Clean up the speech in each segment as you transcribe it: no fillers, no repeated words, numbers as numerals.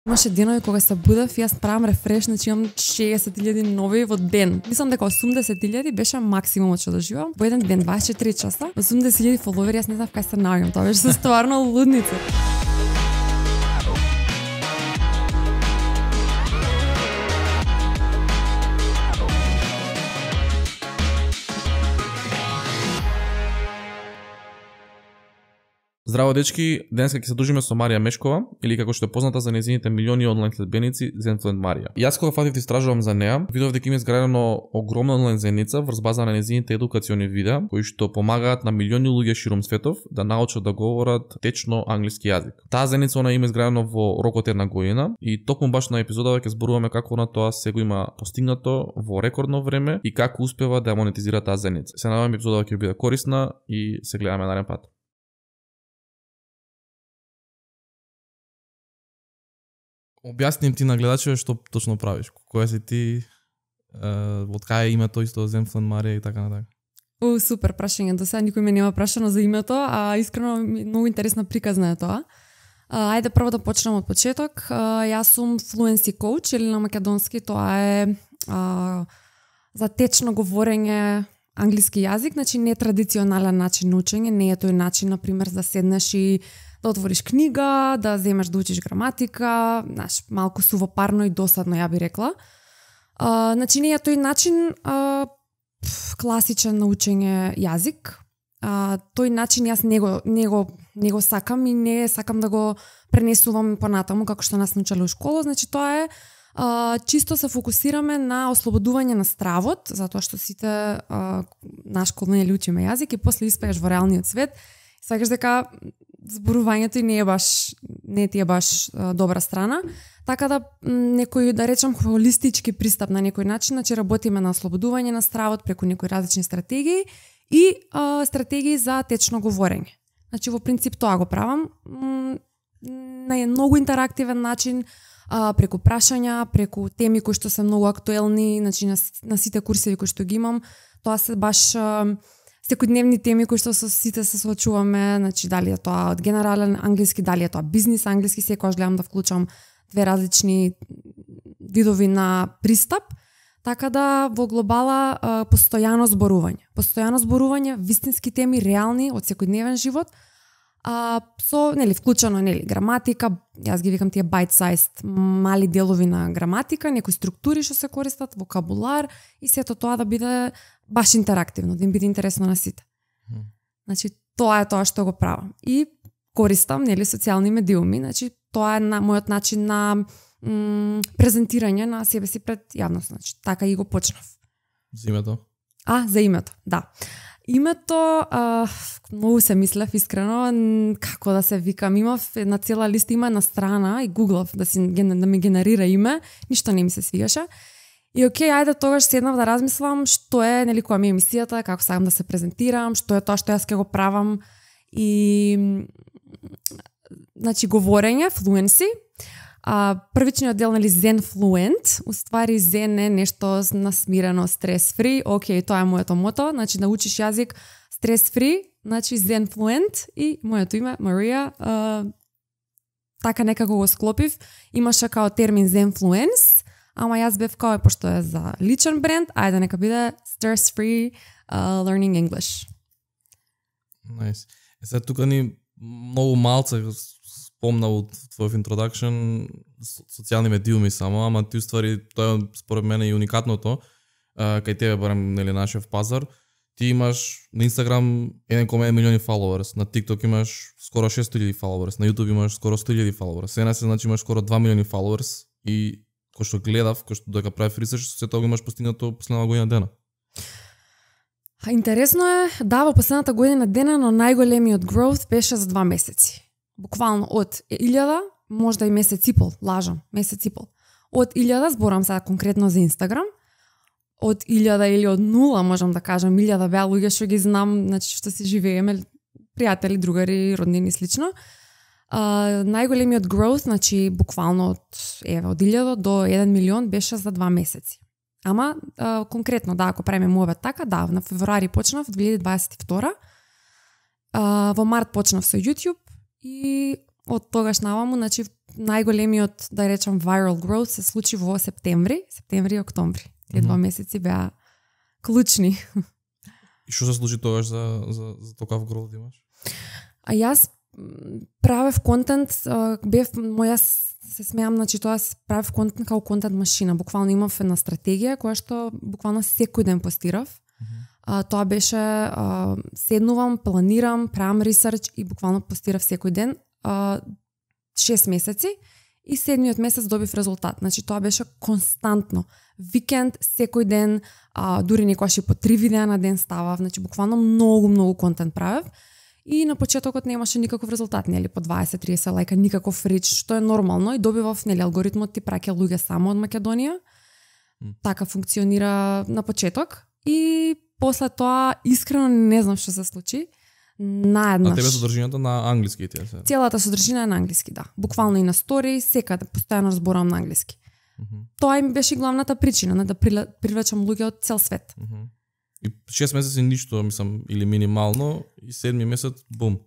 Имаше денови кога се будев и јас правам рефреш, значи имам 60.000 нови во ден. Мислам дека 80.000 беше максимумот што доживам. Во еден ден 24 часа, 80.000 фоловери, јас не знам кај се наоѓам, тоа беше стварно лудница. Здраво дечки, денеска ќе се дружиме со Марија Мешкова, или како што е позната за нејзините милиони онлайн следбеници, Zenfluent Марија. Јас кога фатив да истражувам за неа, видов дека има изградено огромна онлайн заедница врз база на нејзините едукациони видеа, кои што помагаат на милиони луѓе ширум светов да научат да говорат течно англиски јазик. Таа заедница она има изградено во рокот една година и токму баш на епизодава ќе зборуваме како на тоа сега има постигнато во рекордно време и како успева да ја монетизира таа заедница. Се надевам епизодава ќе биде корисна и се гледаме нареден пат. Објасни им ти на гледачите што точно правиш. Која си ти, од кај е името исто Zenfluent Марија и така натака. Супер прашање. До сега никој ме нема прашано за името, а искрено многу интересна приказна е тоа. Ајде прво да почнем од почеток. Јас сум fluency coach, или на македонски тоа е за течно говорење англиски јазик, значи не традиционален начин на учење, не е тој начин, например, да седнеш и да отвориш книга, да земеш да учиш граматика, знаеш, малку сувопарно и досадно, ја би рекла. Значи не е тој начин класичен на учење јазик. Тој начин јас не го сакам и не сакам да го пренесувам понатаму како што нас научале у школа, значи тоа е чисто се фокусираме на ослободување на стравот, затоа што сите на школа не учиме јазик и после испееш во реалниот свет, сакаш дека зборувањето и не ти е баш добра страна, така да некој, да речам, холистички пристап на некој начин, значи работиме на ослободување на стравот преку некои различни стратегии и стратегии за течно говорење. Значи во принцип тоа го правам на многу интерактивен начин, преку прашања, преку теми кои што се многу актуелни, значи на сите курсеви кои што ги имам, тоа се баш секојдневни теми кои што со сите се соочуваме, значи дали е тоа од генерален англиски, дали е тоа бизнис англиски, секогаш гледам да вклучам две различни видови на пристап, така да во глобала постојано зборување, вистински теми, реални од секојдневен живот, со вклучено граматика, јас ги викам тие bite-sized мали делови на граматика, некои структури што се користат, вокабулар и сето тоа да биде баш интерактивно, да им биде интересно на сите. Значи тоа е тоа што го правам. И користам социјални медиуми, значи тоа е мојот начин на презентирање на себе си пред јавност, значи така и го почнав. За името? За името, да. Името, многу се мислев искрено како да се викам. Имав една цела листа, има една страна и гуглав да ми генерира име, ништо не ми се свигаше. И ајде тогаш седнав да размислам што е, која ми е емисијата, како сакам да се презентирам, што е тоа што јас ќе го правам. И значи говорење, fluency. Првичниот дел, Zenfluent, уствари Zen е нешто насмирено, стрес-фри, тоа е моето мото, значи да учиш јазик стрес-фри, значи Zenfluent и моето име, Марија, така некако го склопив, имаше као термин Zenfluence, ама јас бев као пошто е за личен бренд, ајде нека биде stress-free learning English. Nice. Сега тука ни многу малце спомна од твојов introduction социјални медиуми само, ама ти уствари тоа е според мене и уникатното кај тебе барем нашиот пазар. Ти имаш на Instagram 1,1 милиони followers, на TikTok имаш скоро 600,000 followers, на YouTube имаш скоро 100,000 followers. Сега се значи имаш скоро 2 милиони followers и кој што гледав, кој што дека правев ресерч, се тоа имаш постигнато последна година дена. Интересно е, да, во последната година дена, но најголемиот growth беше за 2 месеци. Буквално од 1000, можда и месец и пол, лажам, месец и пол. Од 1000, зборам сега конкретно за Инстаграм, од 1000 или од 0, можам да кажам, 1000 беа луѓе што ги знам, значи што си живееме, пријатели, другари, роднини и слично. Најголемиот growth, значи буквално од 1000 до 1 милион беше за 2 месеци. Ама конкретно, да, ако правиме муабет така, да, на февруари почнав 2022. Во март почнав со YouTube и од тогаш наваму, значи најголемиот, да речам, viral growth се случи во септември и октомври. Тие 2 месеци беа клучни. И што се случи тогаш за такав growth имаш? А јас правев контент, се смеам, значи тоа правев контент како контент машина. Буквално имав една стратегија која што буквално секој ден постирав. Тоа беше седнувам, планирам, правам ресерч и буквално постирав секој ден 6 месеци и 7-миот месец добив резултат. Значи тоа беше константно. Викенд, секој ден, дури некогаш и по 3 видеа на ден ставав, значи буквално многу контент правев. И на почетокот немаше никаков резултат, нели, по 20-30 лајка, никаков рич, што е нормално и добивав, нели, алгоритмот ти праќа луѓе само од Македонија. Така функционира на почеток и после тоа искрено не знам што се случи. Наеднаш. А тебе содржината на англиски ти се? Целата содржина е на англиски, да. Буквално и на стори, секаде постојано зборувам на англиски. Тоа им беше главната причина, да привлечам луѓе од цел свет. И 6 месеци ништо, мислам, или минимално, и 7-ми месец, бум.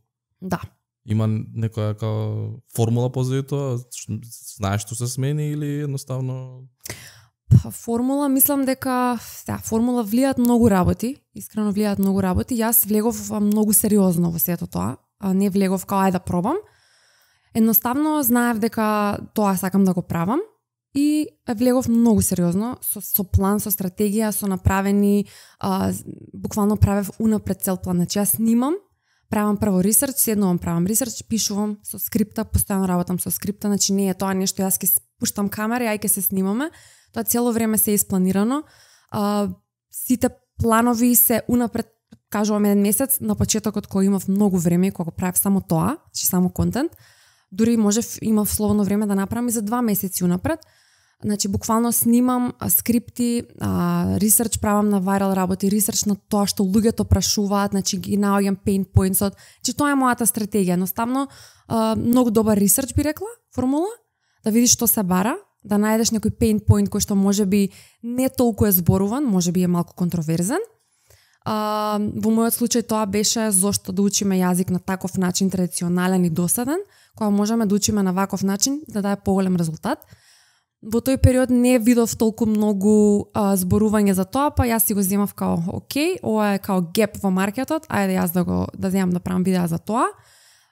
Да. Има некоја као формула позади тоа? Знаеш што се смени или едноставно? Формула, мислам дека формула влијаат многу работи, искрено влијаат многу работи. Јас влегов многу сериозно во сето тоа, а не влегов као ајде да пробам. Едноставно знаев дека тоа сакам да го правам и влегов многу сериозно, со план, со стратегија, со направени, буквално правев унапред цел план. Значи јас снимам, правам прво ресерч, седнувам, правам ресерч, пишувам со скрипта, постојано работам со скрипта, значи не е тоа нешто јас ќе пуштам камера и ај ќе се снимаме. Тоа цело време се испланирано. Сите планови се унапред, кажувам, 1 месец, на почетокот кој имав многу време, кога правев само тоа, значи само контент, дури можев, имав слободно време да направам и за 2 месеци унапред. Значи, буквално снимам скрипти, ресерч правам на viral работи, ресерч на тоа што луѓето прашуваат, значи ги наоѓам pain points-от. Значи, тоа е мојата стратегија. Едноставно, многу добар ресерч би рекла, формула, да видиш што се бара, да најдеш некој pain point кој што можеби не толку е зборуван, можеби е малку контроверзен. Во мојот случај тоа беше зошто да учиме јазик на таков начин, традиционален и досаден, кога можеме да учиме на ваков начин да даде поголем резултат. Во тој период не видов толку многу зборување за тоа, па јас си го земав као окей, ова е као геп во маркетот, ајде јас да земам да правам видеа за тоа.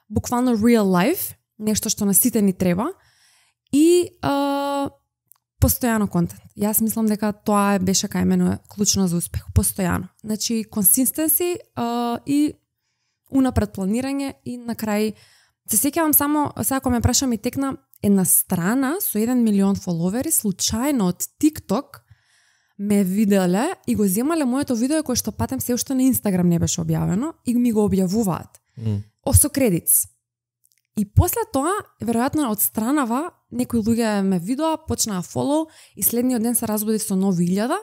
Буквално real life, нешто што на сите ни треба и постојано контент. Јас мислам дека тоа беше кај мене клучно за успех, постојано. Значи consistency и унапред планирање и на крај се сеќавам само сега кога ме праша ми текна една страна со 1 милион фоловери случајно од TikTok ме виделе и го земале моето видео кое што патем се уште на Инстаграм не беше објавено и ми го објавуваат. Со кредитс. И после тоа, веројатно од странава, некои луѓе ме видоа, почнаа фолоу и следниот ден се разбудив со нови 1000.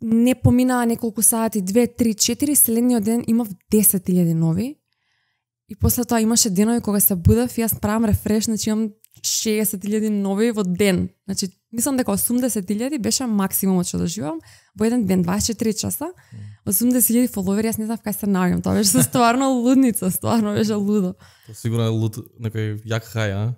Не поминаа неколку сати, 2, 3, 4, следниот ден имав 10.000 нови. И после тоа имаше денови кога се будев и јас правам рефреш, значи имам 60.000 нови во ден. Значи, мислам дека 80.000 беше максимумот што доживам во еден ден, 24 часа. 80.000 фоловери, јас не знам кај се наоѓам. Тоа беше стварно лудница, стварно беше лудо. Тоа сигурно е луд, некој як хај, а?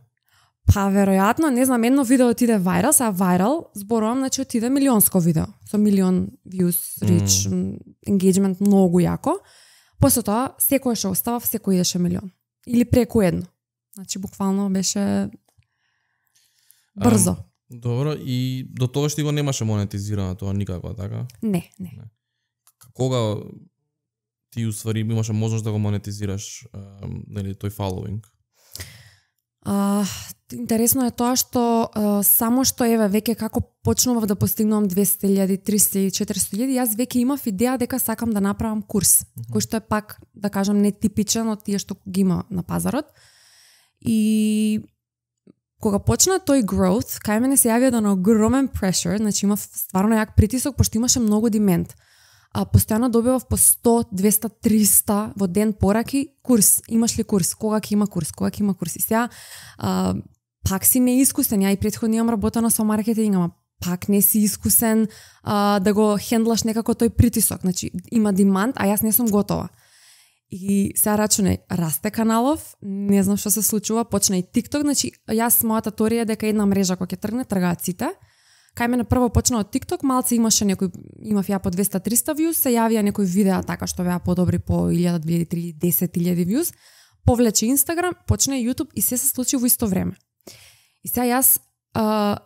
Па, веројатно, не знам, едно видео отиде вајрал, сега вајрал, зборувам, значи отиде милионско видео, со милион views, reach, engagement, многу јако. После тоа, секој што оставав, секој идеше милион. Или преку едно. Значи, буквално беше брзо. Добро, и до тоа што го немаше монетизирано тоа никако, така? Не. Кога ти уствари имаше можност да го монетизираш нели тој following? Интересно е тоа што само што еве веќе како почнував да постигнувам 200.000, 300.000, 400.000, јас веќе имав идеја дека сакам да направам курс, кој што е пак, да кажам, нетипичен од тие што ги има на пазарот. И кога почна тој growth, кај мене се јави еден огромен pressure, значи имав стварно јак притисок, пошто имаше многу демент. Постојано добивав по 100, 200, 300 во ден пораки, курс, имаш ли курс, кога ќе има курс, кога ќе има курс. И сега, пак си неискусен, ја и претходно имам работено со маркетинг, ама пак не си искусен да го хендлаш некако тој притисок. Значи, има деманд, а јас не сум готова. И сега рачунај, расте каналов, не знам што се случува, почна и TikTok, значи јас мојата теорија е дека една мрежа кога ќе тргне, тргаат сите. Кај мене прво почна од TikTok, малце имаше некој, имав ја по 200-300 views, се јавија некои видеа така што беа подобри по 1000, 2000, 10.000 views, повлече Instagram, почна и YouTube и се случи во исто време. И сега јас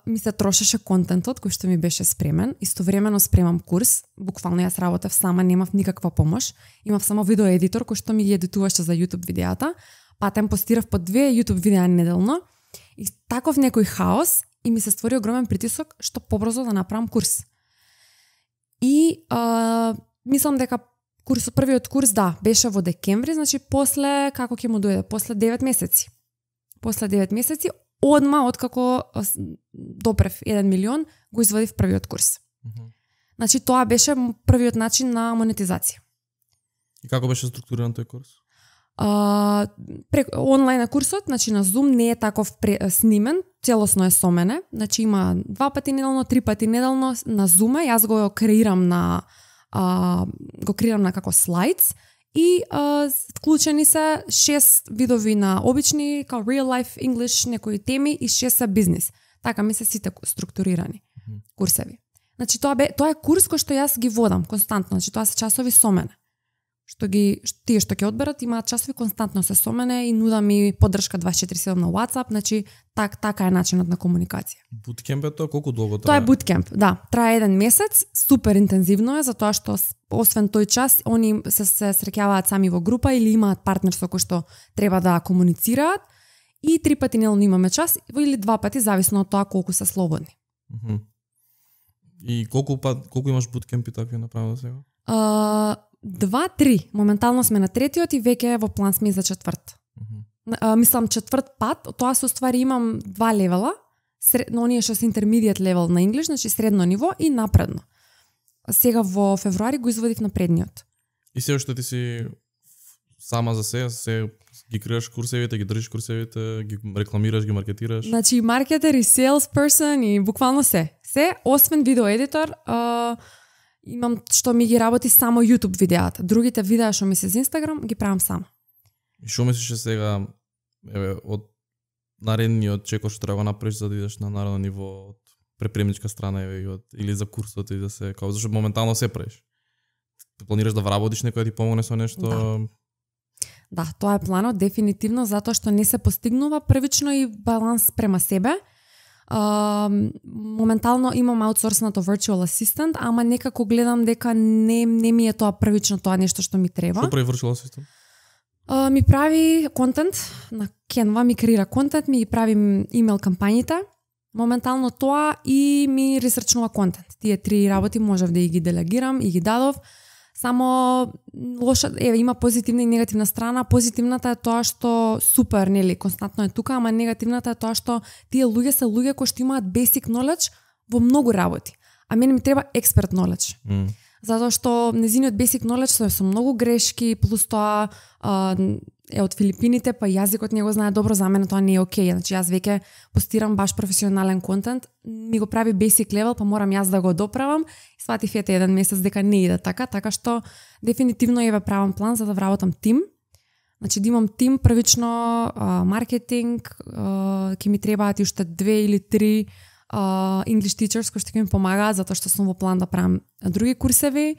ми се трошеше контентот кој што ми беше спремен, истовремено спремам курс, буквално јас работев сама, немав никаква помош, имав само видеоедитор кој што ми ги едитуваше за YouTube видеата, патем постирав по 2 YouTube видеа неделно и таков некој хаос и ми се створи огромен притисок што побрзо да направам курс. И мислам дека првиот курс беше во декември, значи после како ќе му дојде, после 9 месеци. После 9 месеци одма откако допрев 1 милион, го извадив првиот курс. Значи тоа беше првиот начин на монетизација. И како беше структуриран тој курс? Онлайн курсот, значи на Zoom не е таков снимен, целосно е со мене, значи има 2 пати неделно, 3 пати неделно на Zoom, јас го креирам на како слайдс и вклучени се 6 видови на обични, као real life English, некои теми и 6 се бизнис. Така ми се сите структурирани курсеви. Значи тоа е курс кој што јас ги водам константно, значи тоа се часови со мене. Тие што ќе одберат имаат часови константно се со мене и нудам ми поддршка 24/7 на WhatsApp, значи така е начинот на комуникација. Буткемп е тоа, колку долго трае? Тоа е буткемп, да, трае 1 месец, супер интензивно е затоа што освен тој час они се среќаваат сами во група или имаат партнер со кој што треба да комуницираат и 3 пати неделно имаме час или 2 пати зависно од тоа колку се слободни. И колку имаш буткемпи такви направено сега? 2-3. Моментално сме на третиот и веќе во план сме за четврт. Мислам четврт пат, тоа се уствари имам 2 левела, оние што се intermediate level на English, значи средно ниво и напредно. Сега во февруари го извадив на предниот. И се што ти си сама за се ги креаш курсевите, ги држиш курсевите, ги рекламираш, ги маркетираш? Значи маркетер и salesperson и буквално се. Се, освен видеоедитор, имам што ми ги работи само YouTube видеата. Другите видеа што ми се за Instagram ги правам сама. И што мислиш сега од наредниот чекор што треба да направиш за да идеш на наредно ниво од препремничка страна или за курсот и да се као зашто моментално се правиш? Планираш да вработиш некој да ти помогне со нешто? Да, тоа е планот дефинитивно затоа што не се постигнува првично и баланс према себе. Моментално имам аутсорснато virtual assistant, ама некако гледам дека не ми е тоа првично тоа нешто што ми треба. Што прави virtual assistant? Ми прави контент на Canva, ми креира контент, ми ги прави имейл кампањите. Моментално тоа и ми ресерчнува контент. Тие 3 работи можев да ги делегирам и ги дадов. Само има позитивна и негативна страна. Позитивната е тоа што супер, нели, константно е тука, ама негативната е тоа што тие луѓе се луѓе кои што имаат basic knowledge во многу работи. А мене ми треба expert knowledge. Затоа што незиниот basic knowledge со многу грешки, плюс тоа е од Филипините, па јазикот не го знае добро, за мене тоа не е окей. Значи јас веќе постирам баш професионален контент, ми го прави basic level, па морам јас да го доправам. И сватив ете 1 месец дека не иде така што дефинитивно ја правам план за да вработам тим. Значи да имам тим, првично маркетинг, ќе ми требаат уште 2 или 3 English teachers кои што ќе ми помагаат затоа што сум во план да правам други курсеви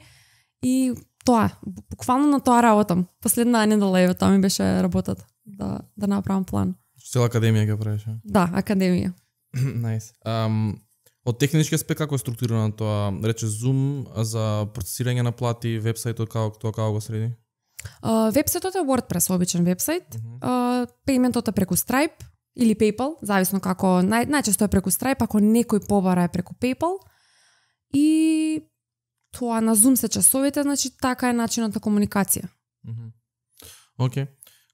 и тоа, буквално на тоа работам. Последна недела тоа ми беше работата, да направам план. Цела академија ќе правиш? Да, академија. Nice. Од технички аспект како е структурирано тоа? Рече Zoom за процесирање на плати, вебсајтот како го среди? Вебсајтот е WordPress, обичен вебсајт. Пејментот е преку Stripe или PayPal, зависно како, најчесто е преку Stripe, ако некој побара е преку PayPal. И тоа на Zoom се часовите, значи така е начинот на комуникација. Океј,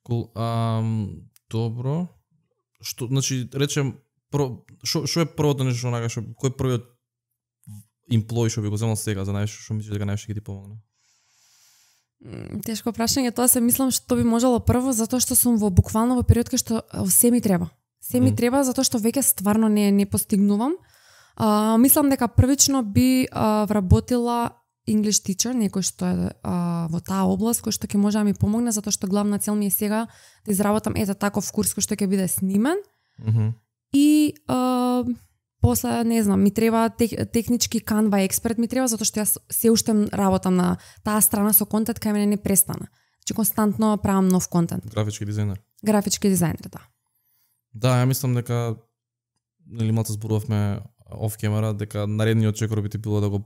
кул. Добро. Што, значи, речем, што е првото нешто онака, кој првиот имплој што би го земал сега за најшто што мислиш дека најшто ќе ти помогне? Тешко прашање, тоа се мислам што би можело прво, затоа што сум буквално во период кај што се ми треба. Се ми треба затоа што веќе стварно не постигнувам. Мислам дека првично би вработила English teacher, некој што е во таа област, кој што ќе може да ми помогне, затоа што главна цел ми е сега да изработам таков курс кој што ќе биде снимен. И после, не знам, ми треба технички Canva експерт ми треба, затоа што јас се уште работам на таа страна со контент, кај мене не престана. Значи константно правам нов контент. Графички дизајнер. Графички дизајнер, да. Да, ја мислам дека или малку зборувавме оф камера дека наредниот чекор би ти било да го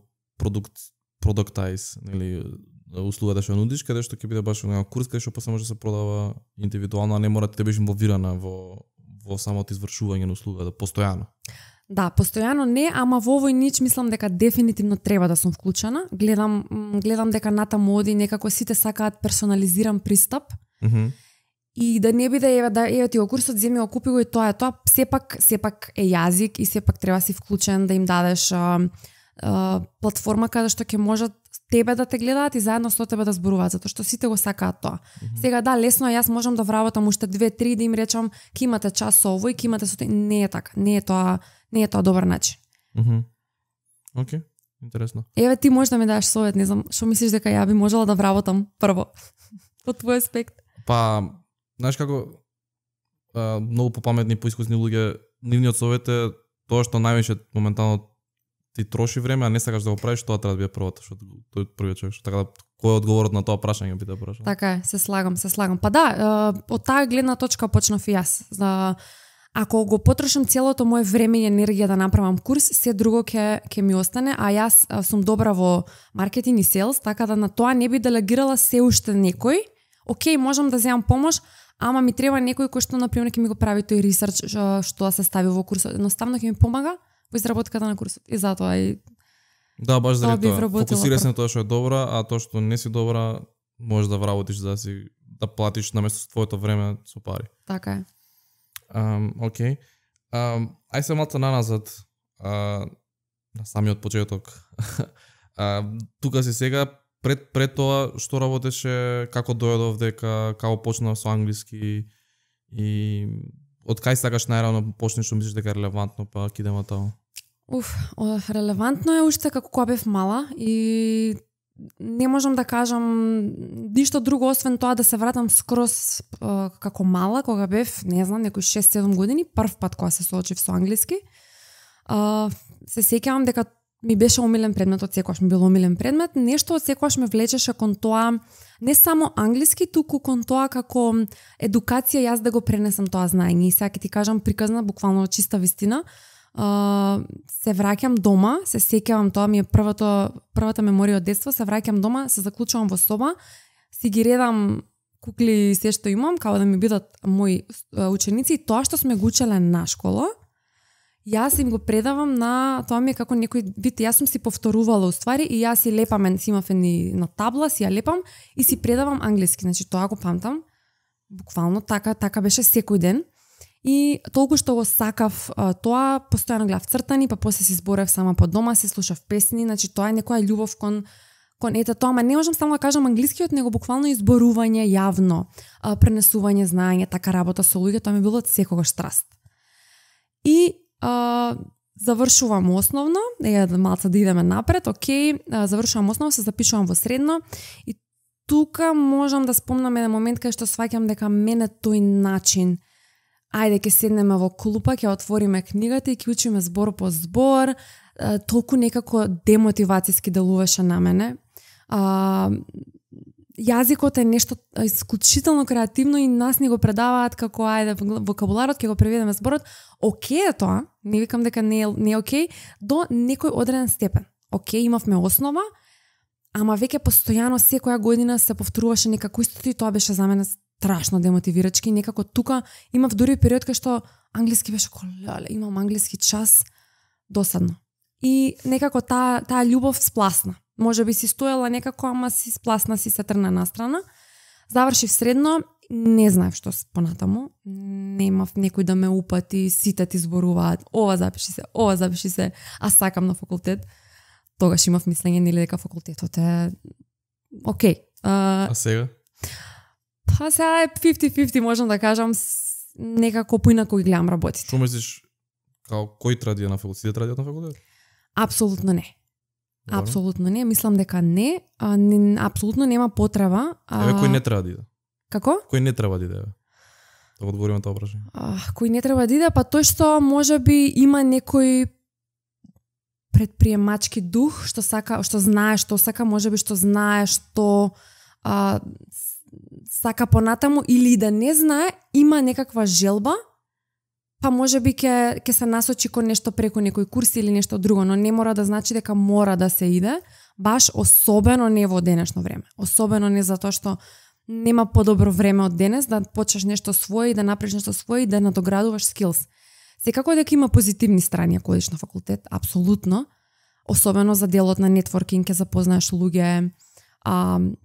продуктайз, нели услугата што нудиш, каде што ќе биде баш на курс каде што после може да се продава индивидуално, а не мора да бидеш инволвирана во самото извршување на услугата постојано. Да, постојано не, ама во овој нич мислам дека дефинитивно треба да сум вклучена. Гледам дека натаму оди некако сите сакаат персонализиран пристап. И да не биде еве ти го курсот, земи го купи го и тоа е тоа, сепак е јазик и сепак треба си вклучен да им дадеш платформа каде што ќе можат тебе да те гледаат и заедно со тебе да зборуваат, затоа што сите го сакаат тоа. Сега да, лесно јас можам да вработам уште 2-3 да им речам ќе имате час со овој, ќе имате со тој, не е така, не е тоа добар начин. Океј, интересно. Еве ти можеш да ми дадеш совет, не знам, што мислиш дека ја би можела да вработам прво од твој аспект? Па, знаеш како многу попаметни, поискусни луѓе, нивниот совет е тоа што највише моментално ти троши време, а не сакаш да го правиш, тоа треба да биде првото, што тој е првиот човек, што така да кој е одговорот на тоа прашање би да прашам. Така е, се слагам. Па да, од таа гледна точка почнав и јас. Ако го потрошам целото моje време и енергија да направам курс, се друго ќе ми остане, а јас сум добра во маркетинг и селс, така да на тоа не би делегирала се уште некој. Океј, можам да земам помош, ама ми треба некој кој што например ќе ми го прави тој ресерч што да се стави во курсот. Едноставно ќе ми помага во изработката на курсот. И затоа и да, баш заради тоа. Фокусирај се на тоа што е добра, а тоа што не си добра, можеш да вработиш да платиш наместо твоето време со пари. Така е. Океј. Ај се малку наназад на самиот почеток. Тука си сега пред тоа што работеше, како дојде овдека, како почна со англиски и од кај сакаш најрано почнеш што мислиш дека е релевантно, па ќе идеме тоа. Релевантно е уште како кога бев мала и не можам да кажам ништо друго освен тоа да се вратам скроз како мала, кога бев, не знам, некои 6-7 години, прв пат кога се соочив со англиски. Се сеќавам дека ми беше омилен предмет, од секогаш ми бил омилен предмет, нешто од секогаш ме влечеше кон тоа, не само англиски, туку кон тоа како едукација јас да го пренесам тоа знаење. И сега ќе ти кажам приказна, буквално чиста вистина. Се враќам дома, се сеќавам, тоа ми е првата меморија од детство, се враќам дома, се заклучувам во соба, си ги редам кукли и се што имам, како да ми бидат мои ученици, и тоа што сме го учеле на школа, јас им го предавам на, тоа ми е како некој вид, јас сум си повторувала уствари и јас си лепам, си имав на табла, си ја лепам и си предавам англиски, значи тоа го памтам, буквално така беше секој ден. И толку што го сакав тоа, постојано гледав цртани, па после си зборев сама по дома, се слушав песни, значи тоа е некоја љубов кон ете тоа, ама не можам само да кажам англискиот, него буквално изборување јавно, пренесување знаење, така работа со луѓе, тоа ми било од секогаш страст. И завршувам основно, малце да идеме напред, окей, завршувам основно, се запишувам во средно и тука можам да спомнам еден момент кај што сваќам дека мене тој начин, ајде ќе седнеме во клупа, ќе отвориме книгата и ќе учиме збор по збор, толку некако демотивацијски делуваше на мене. Јазикот е нешто исклучително креативно и нас ни го предаваат како ајде вокабуларот, ќе го преведеме зборот. Океј е тоа, не викам дека не е океј, до некој одреден степен. Океј, имавме основа, ама веќе постојано секоја година се повторуваше некако истото и тоа беше за мене страшно демотивирачки. Некако тука имав дури период кај што англиски беше леле, имам англиски час, досадно. И некако таа љубов спласна. Може би си стоела некако, ама си спласна, си се трна настрана. Завршив средно, не знаев што понатаму. Не имав некој да ме упати, сите ти зборуваат, ова запиши се, а сакам на факултет. Тогаш имав мислење нели дека факултетот е окей. А сега? Па сега е 50-50, можам да кажам, некако поинако ги гледам работите. Што мислиш, кој традија на факултет? Сите традијат на факултет? Апсолутно не. Апсолутно не, мислам дека не, апсолутно нема потреба. Кој не треба да иде? Како? Кој не треба да иде? Да одговориме на тоа прашање. Кој не треба да иде, па тој што можеби има некој предприемачки дух, што сака, што знае што сака, можеби што знае што сака понатаму, или да не знае, има некаква желба, па можеби ќе се насочи кон нешто преку некој курс или нешто друго, но не мора да значи дека мора да се иде, баш особено не во денешно време. Особено не затоа што нема подобро време од денес да почнеш нешто свое и да направиш нешто свое и да надоградуваш скилс. Секако дека има позитивни страни ако одиш на факултет, апсолутно, особено за делот на нетворкинг, ќе запознаеш луѓе,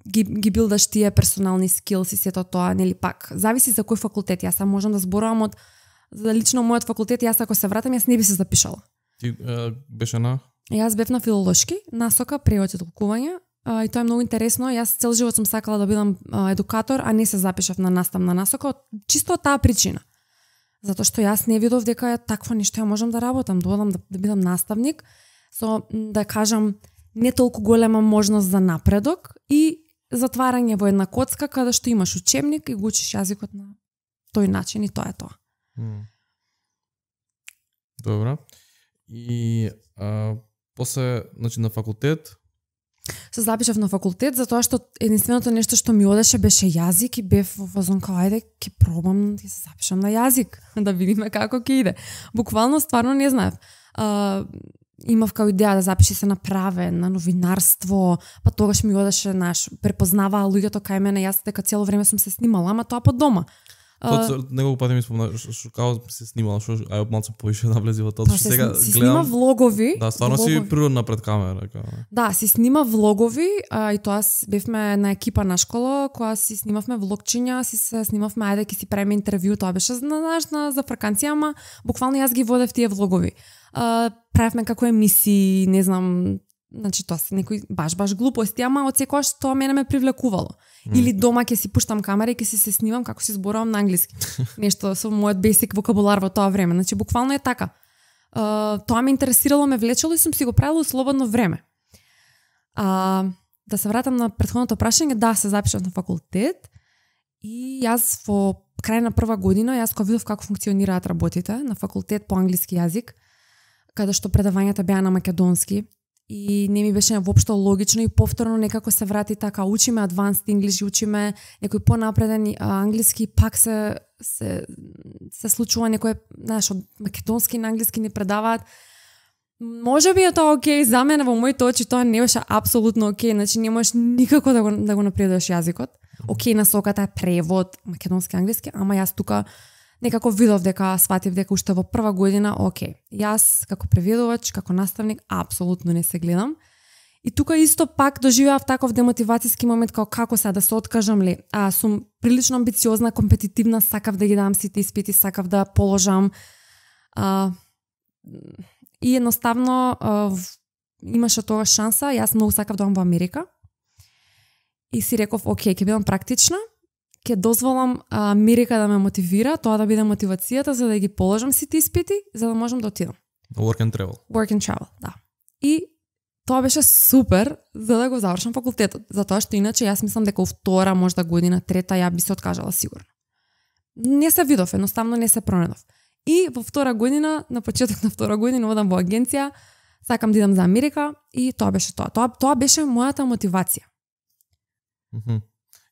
ги билдаш тие персонални скилс и сето тоа, нели пак, зависи за кој факултет. Јас можам да зборувам од за лично мојот факултет, јас ако се вратам, јас не би се запишала. Ти беше на? Јас бев на филолошки, насока превод и толкување, и тоа е многу интересно. Јас цел живот сум сакала да бидам едукатор, а не се запишав на наставна насока, чисто од таа причина. Затоа што јас не видов дека такво нешто ја можам да работам, додам да бидам наставник, со да кажам не толку голема можност за напредок и затварање во една коцка каде што имаш учебник и го учиш јазикот на тој начин и тоа е тоа. Добро. И после, значи на факултет се запишав на факултет затоа што единственото нешто што ми одеше беше јазик и бев во фазон као ајде ќе пробам да се запишам на јазик да видиме како ќе иде. Буквално стварно не знаев. Имав као идеја да запиши се на правен, на новинарство, па тогаш ми одеше, препознаваа луѓето кај мене, јас дека цело време сум се снимала, ама тоа под дома. Неколку пати ми спомна што као се снимала, што ај малку повише навлези во тоа, што сега си гледам. Снима влогови. Да, стварно си природна пред камера, као. Да, си снима влогови, и тоа бевме на екипа на школа, која си снимавме влогчиња, си се снимавме ајде ќе си правиме интервју, тоа беше за фраканција, ама буквално јас ги водев тие влогови. Правевме како емисии, не знам, значи тоа се некои баш глупости, ама од секогаш тоа мене ме привлекувало. Или дома ќе си пуштам камера и ќе се снимам како си зборувам на англиски. Нешто со мојот basic вокабулар во тоа време. Значи буквално е така. Тоа ме интересирало, ме влечело и сум си го правила во слободно време. Да се вратам на претходното прашање, да, се запишав на факултет и јас во крај на прва година, јас кога видов како функционираат работите на факултет по англиски јазик, каде што предавањата беа на македонски, и не ми беше воопшто логично и повторно некако се врати така, учиме advanced English, учиме некој понапреден англиски, пак се случува некој, знаеш, од македонски на англиски не предаваат. Можеби е тоа окей за мене, во моите очи тоа не беше апсолутно окей, значи не можеш никако да го напредуваш јазикот. Окей, насоката е превод македонски англиски, ама јас тука некако видов дека, сватив дека уште во прва година, окей, јас како преведувач, како наставник, апсолутно не се гледам. И тука исто пак доживеав таков демотивацијски момент, како сега да се откажам ли. Сум прилично амбициозна, компетитивна, сакав да ги дам сите испити, сакав да положам. И едноставно имаше тоа шанса, јас многу сакав да одам во Америка. И си реков, окей, ќе бидам практична, ќе дозволам Америка да ме мотивира, тоа да биде мотивацијата за да ги положам сите испити, за да можам да отидам. Work and travel. Work and travel, да. И тоа беше супер за да го завршам факултетот, затоа што иначе јас мислам дека втора, можда година, трета, ја би се откажала сигурно. Не се видов, едноставно не се пронедов. И во втора година, на почеток на втора година, одам во агенција, сакам да идам за Америка и тоа беше тоа. Тоа беше мојата мотивација.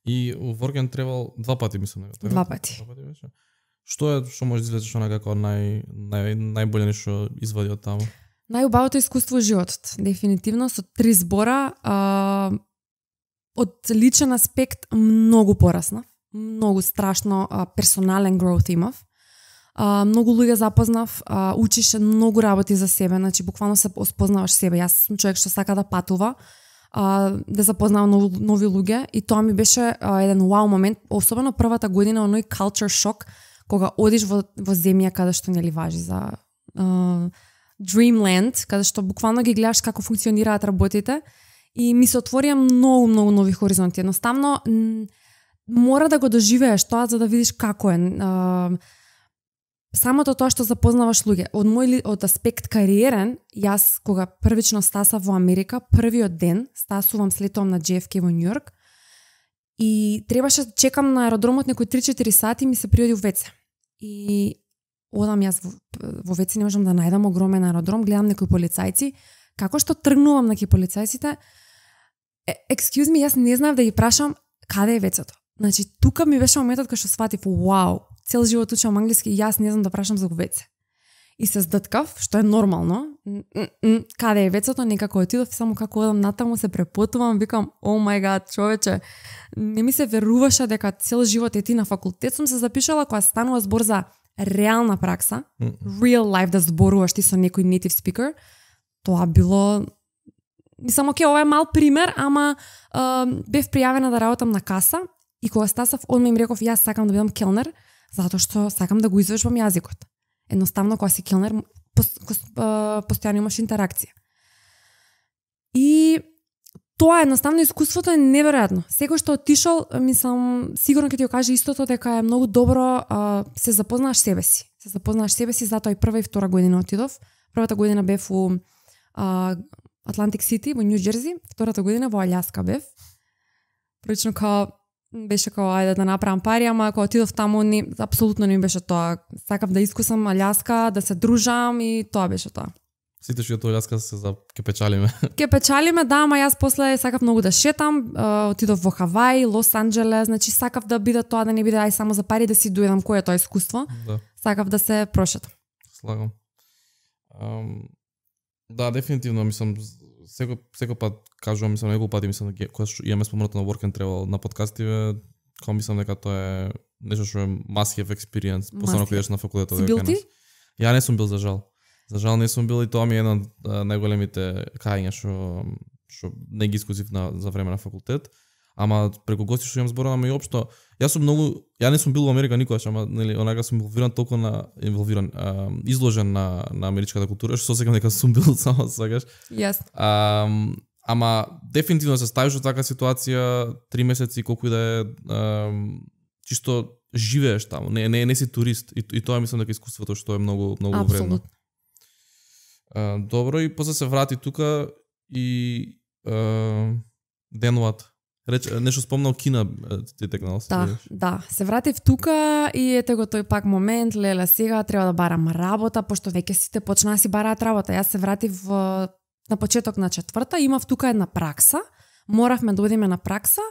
И у Work and Travel 2 пати мислам дека. 2 пати. Беше. Што може да извлечеш како најболе нешто извади од таму? Најубавото искуство во животот, дефинитивно со 3 збора, од личен аспект многу пораснав, многу страшно персонален growth имав. Многу луѓе запознав, учиш многу работи за себе, значи буквално се спознаваш себе. Јас сум човек што сака да патува, да запознавам нови луѓе и тоа ми беше еден вау момент, особено првата година, оној culture shock, кога одиш во земја каде што нели важи за Dreamland, каде што буквално ги гледаш како функционираат работите и ми се отворија многу нови хоризонти. Едноставно мора да го доживееш тоа за да видиш како е. самото тоа што запознаваш луѓе, од аспект кариерен, јас кога првично стасав во Америка, првиот ден стасувам, слетувам на JFK во Њујорк и требаше да чекам на аеродромот некои 3-4 сати, ми се приоди в ВЦ. И одам јас во ВЦ, не можам да најдам, огромен аеродром, гледам некои полицајци, како што тргнувам на полицајците, excuse me, јас не знаев да ги прашам каде е ВЦ-то. Значи, тука ми беше моментот кога што сватив, вау, цел живот учам англиски и јас не знам да прашам за ВЦ. И се здткав, што е нормално. Каде е ВЦ-то, некако отидов, само како одам натаму, се препотувам, викам, о мај гад, човече, не ми се веруваше дека цел живот е ти на факултет. Сум се запишала кога станува збор за реална пракса, real life, да зборуваш ти со некој native speaker. Тоа било... Мислам, оке, ова е мал пример, ама бев пријавена да работам на каса и кога стасав, одма им реков, јас сакам да бидам келнер, затоа што сакам да го извежбам јазикот. Едноставно, кога си келнер, постојано имаш интеракција. И тоа едноставно искуството е неверојатно. Секој што отишол, мислам, сигурно ќе ти го каже истото, дека е многу добро се запознаеш себе си. Се запознаеш себе си, затоа и прва и втора година отидов. Првата година бев у Атлантик Сити во Нью Џерси, втората година во Алјаска бев. Прилично беше ајде да направам пари, ама кога отидов таму апсолутно не ми беше тоа. Сакав да искусам Алјаска, да се дружам и тоа беше тоа. Сите што тоа Алјаска се за ке печалиме. Ке печалиме, да, ама јас после сакав многу да шетам, отидов во Хавај, Лос Анџелес, значи сакав да биде тоа, да не биде ај само за пари, да си дојдам кој е тоа искуство. Да. Сакав да се прошетам. Слагам. Да, дефинитивно, мислам, секој пат кажувам, мислам, неколку пати, мислам, кога имаме спомнато на Work and Travel на подкастиве, кога мислам дека тоа е нешто што е must have experience, посебно кога идеш на факултетот. Си бил ти? Ја не сум бил, за жал. За жал не сум бил и тоа ми е една од најголемите кања што не ги искусив за време на факултет. Ама преку гости што имам зборуваме и општо, ја не сум бил во Америка никогаш, ама нели онака сум толку изложен на америчката култура, што сосекам дека сум бил само сакаш. Јас. Ама дефинитивно се ставиш во таква ситуација 3 месеци колку и да е чисто живееш таму, не си турист и тоа мислам дека искуството што е многу вредно. Добро, и после се врати тука и денуват. Нешто спомнал Кина ти текнал се. Да, се вратив тука и ете го тој пак момент, леле сега треба да барам работа, пошто веќе сите почнаа си бараат работа. Јас се вратив на почеток на четврта, имав тука една пракса, моравме да одиме на пракса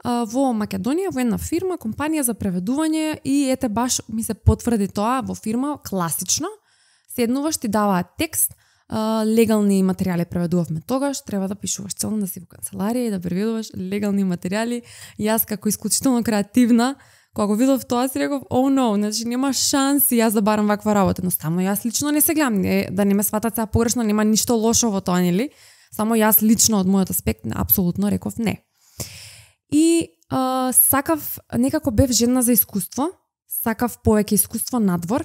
во Македонија, во една фирма, компанија за преведување и ете баш ми се потврди тоа во фирма, класично, седнуваш, ти даваат текст, легални материјали преведувавме тогаш, треба да пишуваш целно, да си во канцеларија и да преведуваш легални материјали. Јас како исклучително креативна, кога го видов тоа си реков, oh no, значи нема шанси јас да барам ваква работа. Едноставно јас лично не се гледам, да не ме сватат сега погрешно, нема ништо лошо во тоа, нели? Само јас лично од мојот аспект апсолутно реков не. И сакав, некако бев жедна за искуство, сакав повеќе искуство надвор,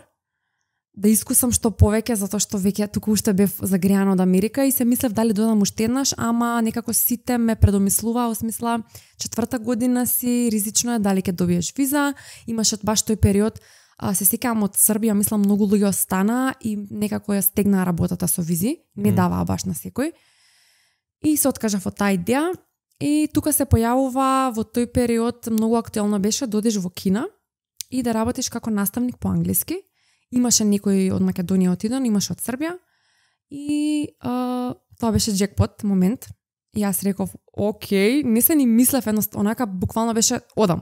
да искусам што повеќе, затоа што веќе туку уште бев загреана од Америка и се мислев дали додам уште еднаш, ама некако сите ме предомислуваа, осмисла четврта година си, ризично е, дали ќе добиеш виза, имаше баш тој период, се сеќавам од Србија, мислам многу луѓе остана и некако ја стегнаа работата со визи, не даваа баш на секој. И се откажав од таа идеја и тука се појавува во тој период многу актуелно беше да одиш во Кина и да работиш како наставник по англиски. Имаше некој од Македонија отиден, имаше од Србија и тоа беше джекпот момент. И јас реков, окей, не се ни мислев едноставно, онака буквално беше одам,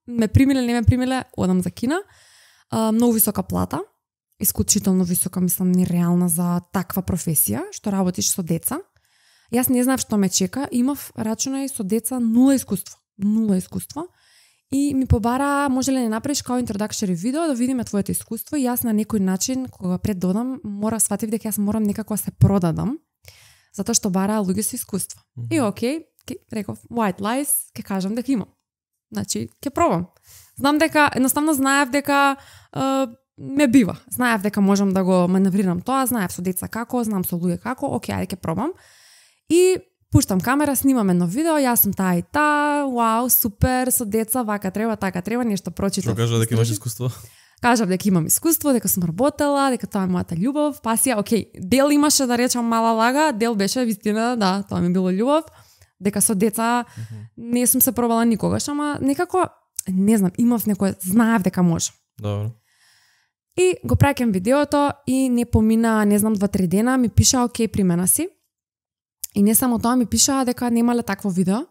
ме примиле, не ме примиле, одам за Кина. Многу висока плата, исклучително висока, мислам, нереална за таква професија, што работиш со деца. Јас не знаев што ме чека, имав рачунај со деца нула искуство. И ми побара, може ли не направиш као introductory видео да видиме твоето искуство и јас на некој начин, кога пред додам, сватив дека јас морам некако се продадам, затоа што бараа луѓе со искуство. И окей, реков, white lies, ќе кажам дека имам. Значи, ќе пробам. Знам дека, едноставно знаев дека ме бива. Знаев дека можам да го маневрирам тоа, знаев со деца како, знам со луѓе како, окей, ајде ќе пробам. И пуштам камера, снимам едно видео, јас сум таа и таа, вау, супер, со деца, вака треба, така треба, нешто прочитав. Што кажа дека имаш искуство? кажав дека имам искуство, дека сум работела, дека тоа е мојата љубов, пасија, окей, дел имаше да речам мала лага, дел беше вистина, да, тоа ми било љубов, дека со деца не сум се пробала никогаш, ама некако, не знам, имав некој, знаев дека можам. Добро. И го праќам видеото и не помина, не знам, 2-3 дена, ми пиша, окей, примена си. И не само тоа, ми пиша дека немале такво видео,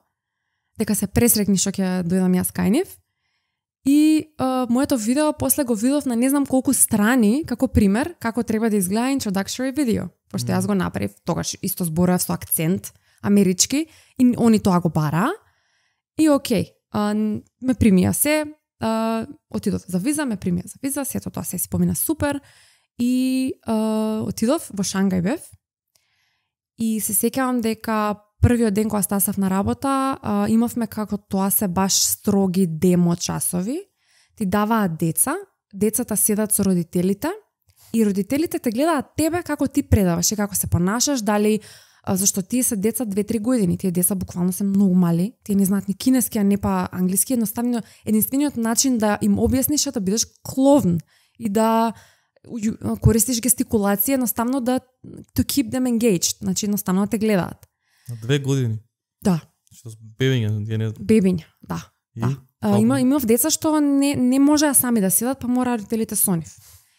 дека се пресрекни што ќе дојдам јас кај нив. И моето видео после го видов на не знам колку страни, како пример, како треба да изгледа introductory видео. Пошто јас го направив, тогаш исто зборував со акцент амерички, и они тоа го бара. И окей, ме примија се, отидов за виза, ме примија за виза, сето тоа се си помина супер. И отидов во Шангај бев. И се сеќавам дека првиот ден кога стасав на работа, имавме како тоа се баш строги демо часови. Ти даваат деца, децата седат со родителите и родителите те гледаат тебе како ти предаваш и како се понашаш, дали зашто тие се деца 2-3 години, тие деца буквално се многу мали, тие не знаат ни кинески, а не па англиски, единствениот начин да им објасниш е да бидеш кловн и да користиш гестикулација, едноставно да to keep them engaged, значи едноставно да те гледаат. На 2 години? Да. Што с бебиња? Бебиња, да. Имав деца што не можеа сами да седат, па мора родителите со нив.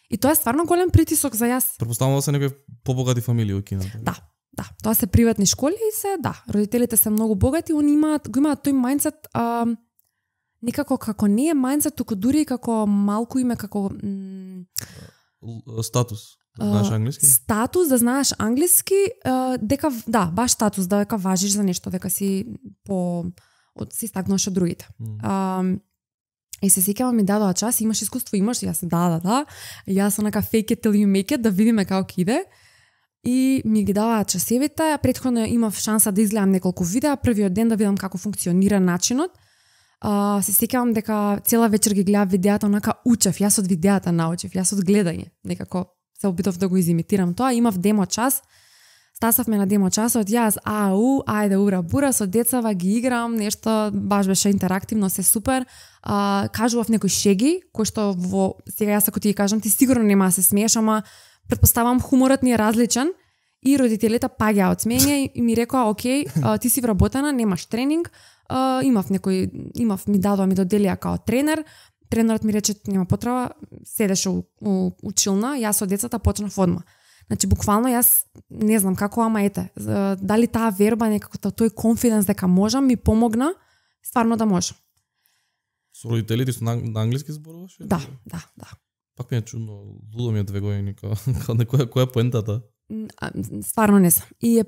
И тоа е стварно голем притисок за јас. Претпоставувам да се некои побогати фамилии во Кина. Да. Тоа се приватни школи и се, да, родителите се многу богати, они имаат тој мајндсет, некако како не е мајндсет, туку дури како малку име како статус. Знаеш англиски? Статус да знаеш англиски, дека да, баш статус дека важиш за нешто, дека си си стакнуваш од другите. И се сеќавам ми дадоа час, имаш искуство, имаш, јас да. Јас онака fake it till you make it, да видиме како ќе иде. И ми ги даваат часевите, претходно имав шанса да изгледам неколку видеа, првиот ден да видам како функционира начинот. Се сеќавам дека цела вечер ги гледав видеата, онака учев, јас од видеата научив, јас од гледање, некако се обидов да го изимитирам тоа, имав демо час, стасавме на демо часот, јас ајде ура бура, со децава ги играм, нешто баш беше интерактивно, се супер, кажував некои шеги, кои што сега јас ако ти ги кажам, ти сигурно нема да се смееш, ама претпоставам хуморот ни е различен и родителите паѓаа од смење и ми рекоа, окей, ти си вработена, немаш тренинг, ми доделија као тренер, тренерот ми рече, нема потреба, седеше у училна, јас со децата почнав одма. Значи, буквално јас не знам како, ама ете, дали таа верба, некако тој конфиденс дека можам, ми помогна, стварно да можам. Со родителите со на англиски зборуваш? Да. Пак ми е чудно, лудо ми е 2 години, која е поентата? Стварно не сам. И е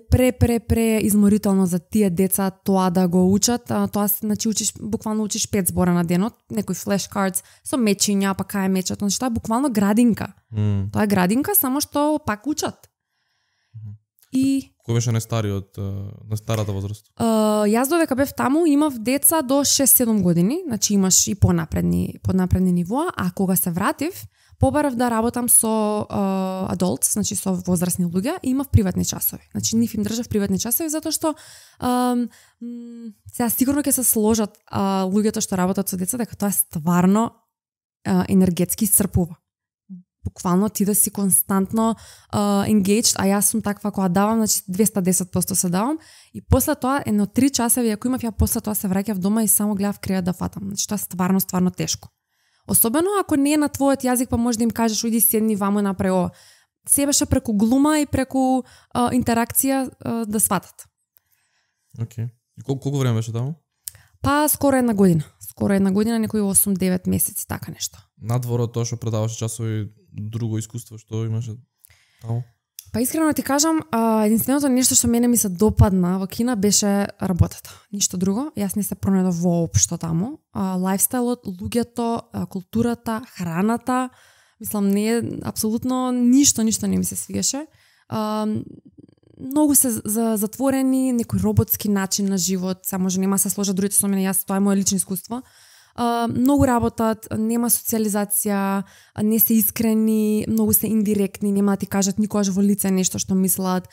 пре изморително за тие деца тоа да го учат. Тоа значи буквално учиш 5 збора на денот, некои флешкардс со мечиња, па кај мечат, значи тоа е буквално градинка. Тоа е градинка, само што пак учат. И кој беше најстариот на старата возраст? Јас додека бев таму имав деца до 6-7 години, значи имаш и поднапредни нивоа, а кога се вратив, побарав да работам со adults, значи со возрастни луѓе, и имав приватни часови. Значи нив им држав приватни часови затоа што сега сигурно ќе се сложат луѓето што работат со деца дека тоа е стварно енергетски исцрпува. Буквално ти да си константно engaged, а јас сум таква кога давам, значи 210% се давам и после тоа едно 3 часови ако имав, ја после тоа се враќав дома и само гледав кревет да фатам. Значи тоа е стварно тешко. Особено ако не е на твојот јазик, па можеш да им кажеш ујди седни вамо направи ова. Се беше преку глума и преку интеракција да сватат. Океј. И колку време беше таму? Па скоро една година, некои 8-9 месеци, така нешто. Надвор од тоа што предаваше часови, друго искуство што имаше таму? Па искрено ти кажам, единственото нешто што мене ми се допадна во Кина беше работата. Ништо друго. Јас не се пронајдов воопшто таму. Лајфстајлот, луѓето, културата, храната, мислам не апсолутно ништо не ми се свигаше. Многу се затворени, некој роботски начин на живот, само може нема се сложат другите со мене, јас тоа е моје лично искуство. Многу работат, нема социализација, не се искрени, многу се индиректни, нема да ти кажат никогаш во лице нешто што мислат.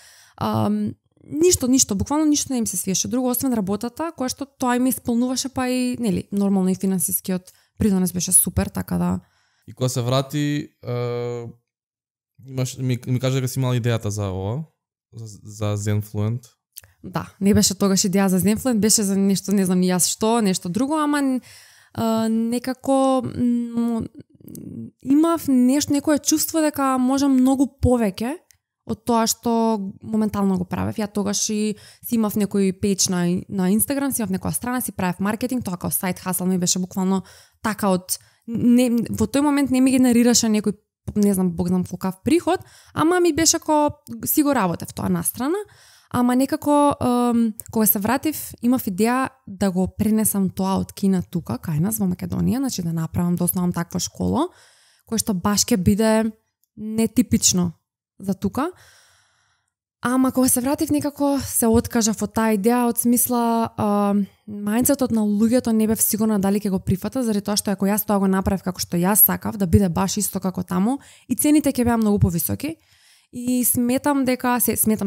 Ништо, буквално ништо не им се свиеше друго, освен работата, која што тоа им исполнуваше, па и, нели, нормално и финансискиот придонес беше супер, така да И кога се врати, ми кажа дека си имала идејата за ова, за Zenfluent. Да, не беше тогаш идеја за Zenfluent, беше за нешто, не знам ни јас што, нешто друго, ама некако имав некое чувство дека можам многу повеќе од тоа што моментално го правев. Ја тогаш и си имав некој пејдж на Instagram, си имав некоја страна, си правев маркетинг, тоа као сайт хасл ми беше буквално така од во тој момент не ми генерираше некој, не знам, бог знам колкав приход, ама ми беше ко си го работев тоа настрана, ама некако кога се вратив имав идеја да го пренесам тоа од Кина тука кај нас во Македонија, значи да направам, да основам таква школа која што баш ќе биде нетипично за тука. Ама кога се вратив некако се откажав од таа идеја, од смисла мајндсетот на луѓето не бев сигурна дали ќе го прифата, заради тоа што ако јас тоа го направив како што јас сакав, да биде баш исто како таму, и цените ќе беа многу повисоки. И сметам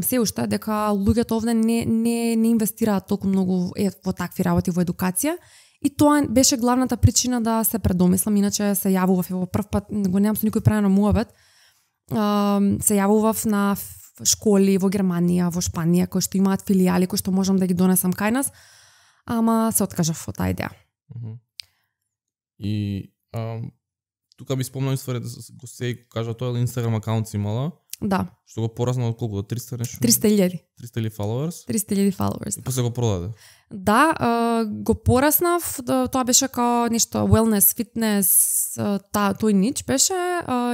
се уште дека луѓето овде не инвестираат толку многу во такви работи, во едукација. И тоа беше главната причина да се предомислам, иначе се јавував во прв пат, го немам со никој правено муабет. Се јавував на школи во Германија, во Шпанија, кои што имаат филијали, кои што можам да ги донесам кај нас, ама се откажав од таа идеја. И тука би спомнал ствари да го се кажа тоа, Инстаграм акаунт си имала. Да. Што го порасна од колку? До 300 нешто? 300.000. 300.000 followers? 300.000 followers. И после го продаде? Да, го пораснав, тоа беше као нешто wellness, fitness, тој нич беше.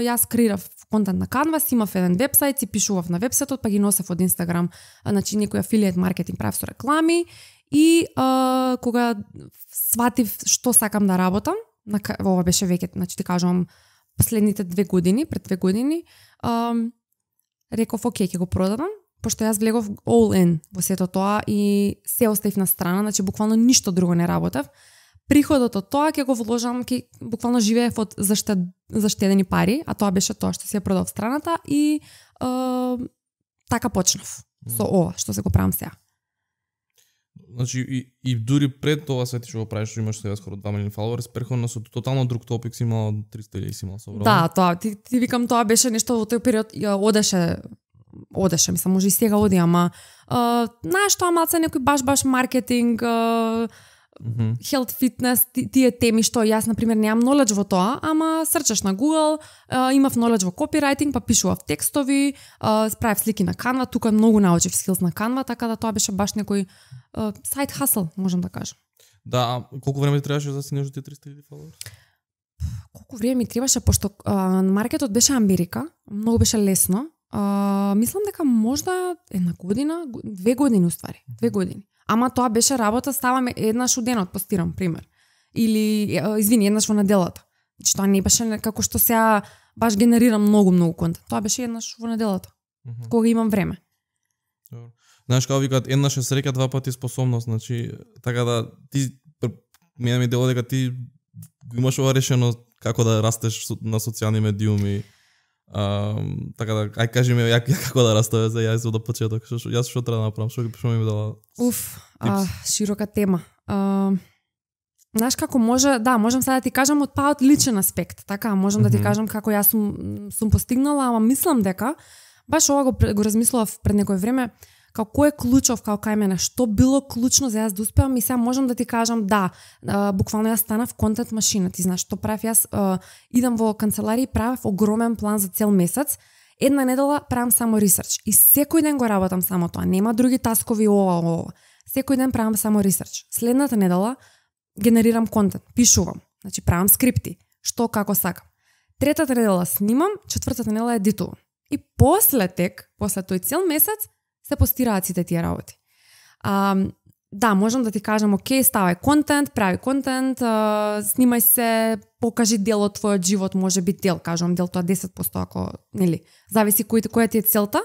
Јас креирав контент на Canva, имав еден вебсайт, си пишував на вебсајтот, па ги носев од Instagram, значи некој афилијет маркетинг правев со реклами, и кога сватив што сакам да работам, ова беше веќе, значи ти кажувам, последните 2 години, пред 2 години, реков, окей, ќе го продадам, пошто јас влегов all in во сето тоа и се оставив на страна, значи буквално ништо друго не работев. Приходот од тоа ќе го вложам, буквално живеев од заштедени пари, а тоа беше тоа што си ја продав страната и така почнав со ова што се го правам сега. Значи и дури пред тоа се ти што го правиш, што имаш сега скоро 2 милиони фоловери, перходно со тотално друг топик си имала 300.000 си имала собрано. Да, тоа ти викам, тоа беше нешто во тој период одеше, мислам, може и сега оди, ама знаеш тоа малце некој баш маркетинг, health, fitness, тие теми што јас на пример немам knowledge во тоа, ама срчаш на Google, имав knowledge во copywriting, па пишував текстови, правев слики на Canva, тука многу научив skills на Canva, така да тоа беше баш некој сайт хасл, можам да кажам. Да, колку време ти требаше да стигнеш до тие 300.000 фоловери? Колку време ми требаше, пошто маркетот беше Америка, многу беше лесно. Мислам дека можда 1 година, 2 години уствари, 2 години. Ама тоа беше работа, ставаме еднаш у денот, постирам, пример. Или, еднаш во неделата. Значи тоа не беше како што сега баш генерирам многу контент. Тоа беше еднаш во неделата, кога имам време. Знаеш, како викаат, еднаш е среќа, 2 пати способност, значи, така да, мене ми дело дека ти имаш ова решено како да растеш на социјални медиуми. Така да, ај кажи ми ја како да растеш за јас од почеток, јас што треба да направам, што ми дала? Широка тема. Знаеш како можам сега да ти кажам од личен аспект, така, можам да ти кажам како јас сум постигнала, ама мислам дека баш ова го размислував пред некој време, како е клучов кај мене, што било клучно за јас да успеам, и сега можам да ти кажам буквално јас станав контент машина. Ти знаеш што правев јас? Идам во канцеларија и правев огромен план за цел месец. Една недела правам само ресерч и секој ден го работам само тоа. Нема други таскови ова. Секој ден правам само ресерч. Следната недела генерирам контент, пишувам, значи правам скрипти, што како сакам. Третата недела снимам, четвртата недела едитувам. И после тој цел месец се постираат сите тие работи. Можам да ти кажам, окей, ставај контент, прави контент, снимај се, покажи дел од твојот живот, може би дел, кажам дел, тоа 10%, ако, зависи која ти е целта.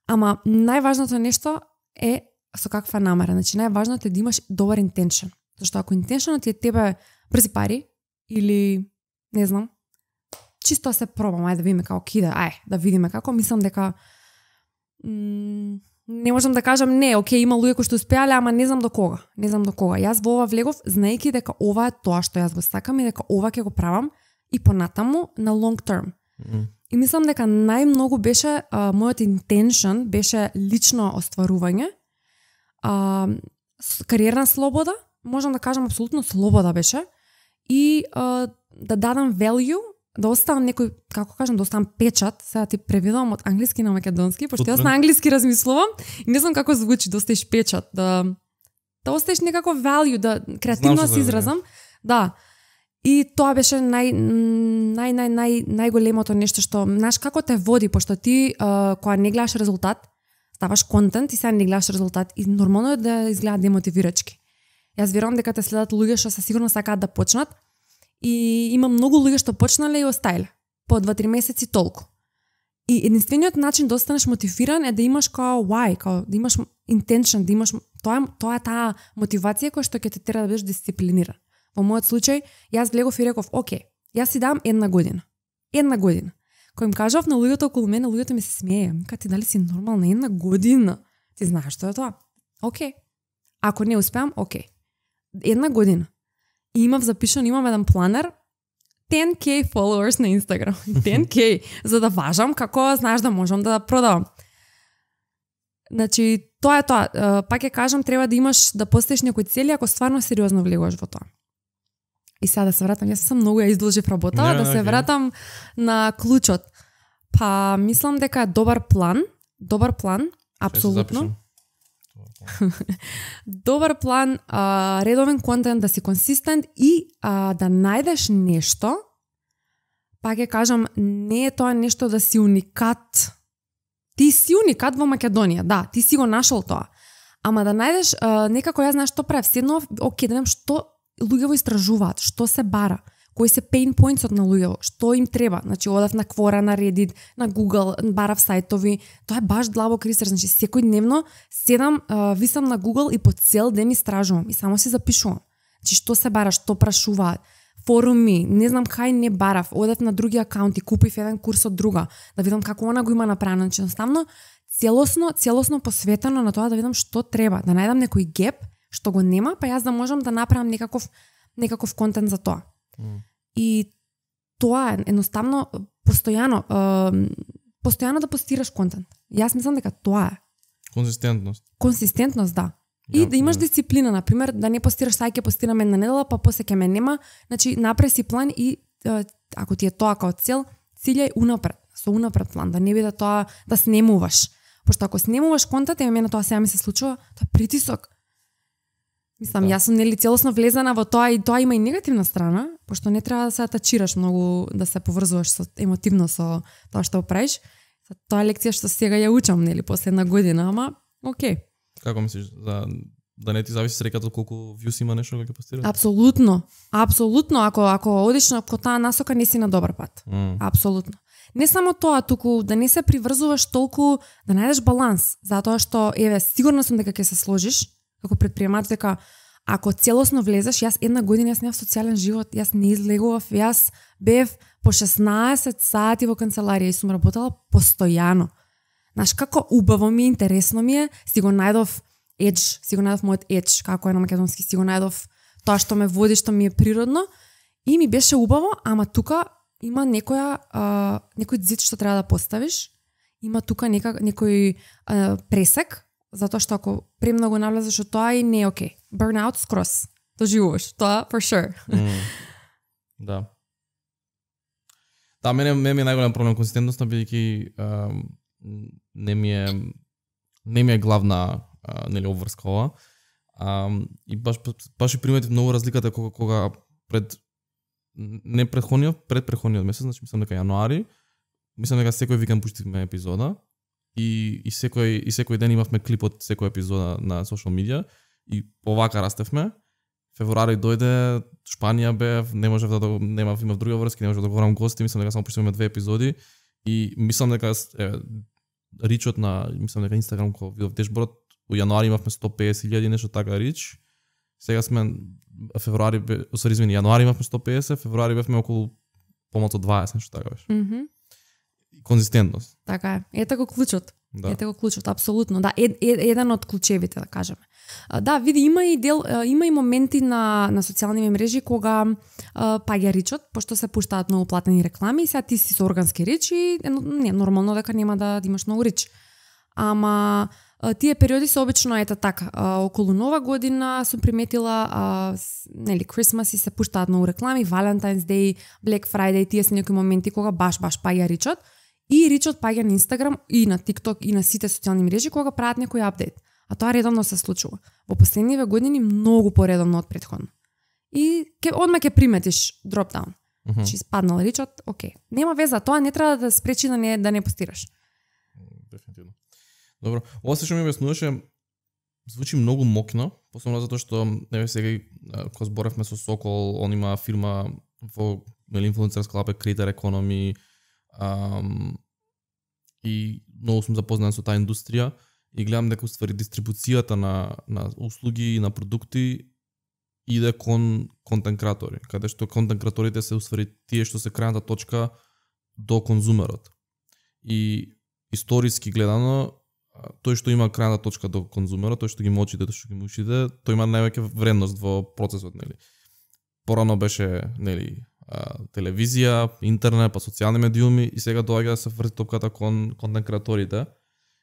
Ама најважното нешто е со каква намера. Значи најважното е да имаш добар интеншн. Зашто ако интеншнот ти е тебе брзи пари или не знам, чисто се пробам, ајде да видиме како кида, да видиме како, мислам дека не можам да кажам окей, има луѓе кои што успеале, ама не знам до кога. Јас во ова влегов знаејќи дека ова е тоа што јас го сакам и дека ова ќе го правам и понатаму на long term. И мислам дека најмногу беше мојот intention беше лично остварување, кариерна слобода, можам да кажам апсолутно слобода беше и да дадам value, да оставам некој, како кажам, да оставам печат, сега ти преведувам од англиски на македонски, пошто јас на англиски размислувам и не знам како звучи да оставиш печат, да оставиш некако value, да креативно се изразам. Да. И тоа беше најголемото нешто што, знаеш, како те води, пошто ти кога не гледаш резултат, ставаш контент и сега не гледаш резултат и нормално е да изгледа демотивирачки. Јас верувам дека те следат луѓе што се сигурно сакаат да почнат и има многу луѓе што почнале и остајле по 2-3 месеци толку. И единствениот начин да останеш мотивиран е да имаш као why, као да имаш intention, да имаш тоа е таа мотивација која што ќе те тера да бидеш дисциплиниран. Во мојот случај, јас гледав и реков, окей, јас си дам 1 година. 1 година. Кој им кажав на луѓето околу мене, луѓето ми се смееја. Ти дали си нормална 1 година? Ти знаеш што е тоа? Окей. Ако не успеам, окей. 1 година. И имам еден планер, 10k followers на Instagram. 10k, за да важам како, знаеш, да можам да продавам. Значи, тоа е тоа. Пак ќе кажам, треба да имаш, да поставиш некои цели, ако стварно сериозно влегуваш во тоа. И сега да се вратам, јас сам многу ја изложив работа, да се вратам на клучот. Па, мислам дека е добар план, апсолутно. Добар план, редовен контент, да си консистент и да најдеш нешто, па ќе кажам, не е тоа нешто да си уникат. Ти си уникат во Македонија, да, ти си го нашол тоа. Ама да најдеш, некако јас знаеш што правев, седнав, окей, да видам што луѓе во истражуваат, што се бара, кои се pain points на луѓето, што им треба. Значи, одав на Quora, на Reddit, на Google, барав сајтови. Тоа е баш длабок ресерч. Значи, секојдневно седам, висам на Google и по цел ден истражувам и само си запишувам. Значи, што се бара, што прашуваат, форуми, не знам кај не барав, одев на други акаунти, купив еден курс од друга, да видам како она го има направено. Значи, едноставно, целосно посветено на тоа да видам што треба, да најдам некој геп што го нема, па јас да можам да направам некаков контент за тоа. И тоа е едноставно постојано да постираш контент. Јас мислам дека тоа е. Консистентност, да. И да имаш дисциплина, например, да не постираш сајке, постираме една недела, па после ќе ме нема. Значи, направи си план и ако ти е тоа као цел, цилјај унапред, со унапред план, да не биде тоа да снемуваш. Пошто ако снемуваш контент, мене тоа сега ми се случува, тоа е притисок. Мислам, јас сум нели целосно влезена во тоа и тоа има и негативна страна, пошто не треба да се атачираш многу, да се поврзуваш емотивно со тоа што правиш. Тоа лекција што сега ја учам, нели, после 1 година, ама окей. Како мислиш, да не ти зависи среќата од колку views има нешто кога ќе постираш? Апсолутно. Ако одиш на таа насока, не си на добар пат. Апсолутно. Не само тоа, туку да не се приврзуваш толку, да најдеш баланс, затоа што сигурно сум дека ќе се сложиш како предприемач, дека ако целосно влезеш, јас 1 година јас немав социјален живот, јас не излегував, јас бев по 16 сати во канцеларија и сум работела постојано. Знаеш, како убаво ми, интересно ми е, си го најдов мојот едж, како е на македонски, си го најдов тоа што ме води, што ми е природно и ми беше убаво, ама тука има некој зид што треба да поставиш, има тука некој пресек, затоа што ако премногу навлезеш од тоа и не е окей. Burnout скрос. Доживуваш. Тоа for sure. Да. Да, мене ми е најголем проблем консистентноста, бидејќи не ми е главна нели обврска ова. И баш и приметив многу разликата кога предпретходниот месец, значи мислам дека јануари, мислам дека секој викенд пуштивме епизода и секој ден имавме клип од секоја епизода на social media и повака растевме. Февруари дојде, Шпанија бев, имав други врски, не можев да говорам гости, мислам дека само пуштивме 2 епизоди и мислам дека ричот на, мислам дека Инстаграм кога видов дешборд, у јануари имавме 150.000 нешто така рич. Сега сме јануари имавме 150, февруари бевме околу помалку 20, нешто така беше. Mm-hmm. Конзистентност. Така е. Ето го клучот. Да. Ете го клучот, апсолутно. Да, еден од клучевите, да кажеме. Да, види, има и моменти на социјални мрежи кога паѓа ричот, пошто се пуштаат многу платени реклами, и сега ти си со органски рич и не нормално дека нема да имаш многу рич. Ама тие периоди се обично ета така. Околу Нова година сум приметила, нели, Christmas и се пуштаат многу реклами, Valentine's Day, Black Friday, тие се некои моменти кога баш паѓа ричот. И ричот паѓа на Instagram и на TikTok и на сите социјални мрежи кога прават некој апдейт. А тоа редовно се случува. Во последниве години многу поредовно од претходно. И одма ќе приметиш дропдаун. Значи спаднал ричот, окей. Нема веза, тоа не треба да спречи да не постираш. Дефинитивно. Добро, ова се што ми објаснуваше звучи многу мокно, посебно затоа што еве сега кога зборевме со Сокол, он има фирма во инфлуенцерска лапе Creator Economy, и многу сум запознат со таа индустрија и гледам дека уствари дистрибуцијата на услуги и на продукти иде кон контент креатори, каде што контент креаторите се уствари тие што се крајната точка до конзумерот. И историски гледано, тој што има крајната точка до конзумерот, тој што ги мочите, тој што ги мушите, тој има највеќе вредност во процесот, нели. Порано беше, нели, телевизија, интернет, па социјални медиуми и сега доаѓа да се врти топката кон контент креаторите.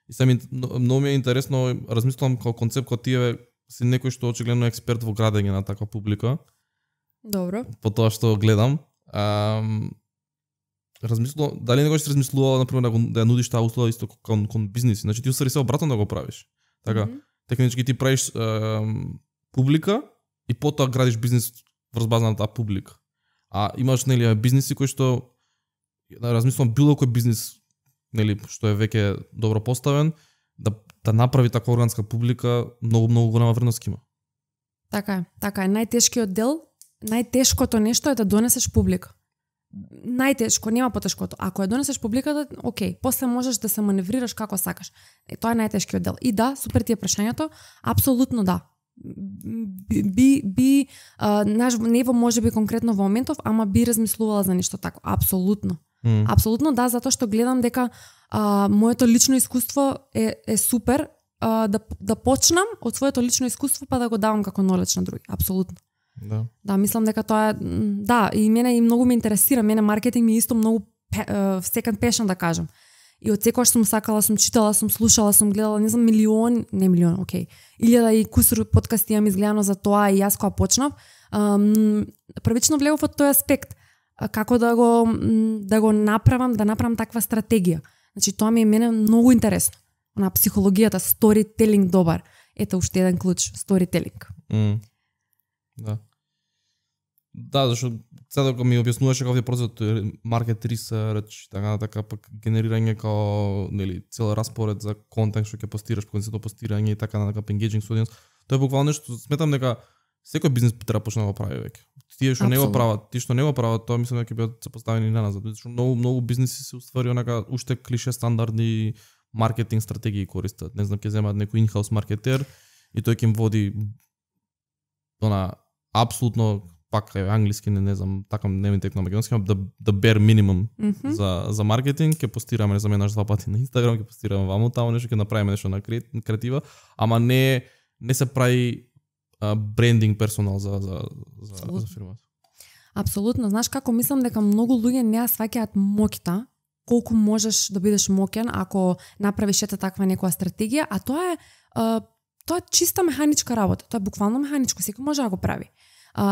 И сега многу ми е интересно, размислувам како концепт кога тие си некој што очигледно е експерт во градење на таква публика. Добро. По тоа што гледам, размислувам, дали некој што размислувал например да ја нудиш таа услуга исто кон бизниси, значи ти усвари се обратно да го правиш. Така, технички ти правиш публика и потоа градиш бизнис врз база на таа публика. А имаш, нели, бизниси кои што размислувам било кој бизнис, нели, што е веќе добро поставен, да направи таква органска публика, многу голема вредност има. Така е. Најтешкиот дел, најтешкото нешто е да донесеш публика. Најтешко, нема потешкото. Ако ја донесеш публиката, окей, после можеш да се маневрираш како сакаш. Тоа е најтешкиот дел. И да, супер ти е прашањето, апсолутно да. Не може би конкретно во моментов, ама би размислувала за нешто тако. Апсолутно. Апсолутно да, затоа што гледам дека моето лично искуство е супер да почнам од своето лично искуство па да го давам како knowledge на други. Апсолутно. Да, мислам дека тоа е, да, и мене и многу ме интересира, мене маркетинг ми е исто многу second passion, да кажам. И од секогаш сум сакала, сум читала, сум слушала, сум гледала, не знам, илјада и кусур подкасти имам изгледано за тоа и јас кога почнав, првично влегов од тој аспект, како да го направам таква стратегија. Значи тоа ми е мене многу интересно. На психологијата, storytelling добар. Ето уште еден клуч, storytelling. Да, зашто сега кога ми објаснуваше како е процесот market research, така пак генерирање као, нели, цел распоред за контент што ќе постираш, концепто постирање и така на engaging со audience. Тоа е буквално нешто, сметам дека секој бизнес треба почне да го прави веќе. Тие што не го прават, тоа мислам дека ќе бидат запоставени наназад, зашто многу бизнеси се уствари онака уште клише стандардни маркетинг стратегии користат. Не знам, ќе земат некој in-house маркетер и тој ќе им води апсолутно пак англиски, не знам, така не ми текна македонски, the bare minimum за маркетинг, ќе постираме, не знам, еднаш 2 пати на Инстаграм, ќе постираме ваму таму нешто, ќе направиме нешто на креатива, ама не се прави брендинг персонал за фирмата. Апсолутно, знаеш како мислам дека многу луѓе не ја сваќаат моќта, колку можеш да бидеш моќен ако направиш таква некоја стратегија, а тоа е чиста механичка работа, тоа е буквално механичко, секој може да го прави.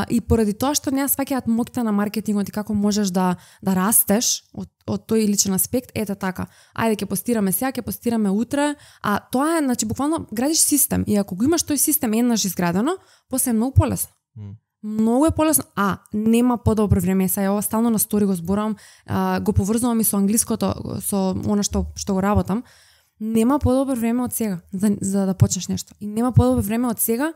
И поради тоа што не ја сваќаат моќта на маркетингот и како можеш да растеш од тој личен аспект, ете така. Ајде ќе постираме сега, ќе постираме утре, а тоа е, значи буквално градиш систем и ако го имаш тој систем еднаш изградено, после е многу полесно. Многу е полесно, нема подобро време. Сега ова стално на стори го зборам, го поврзувам и со англиското, со она што го работам. Нема подобро време од сега за да почнеш нешто. И нема подобро време од сега.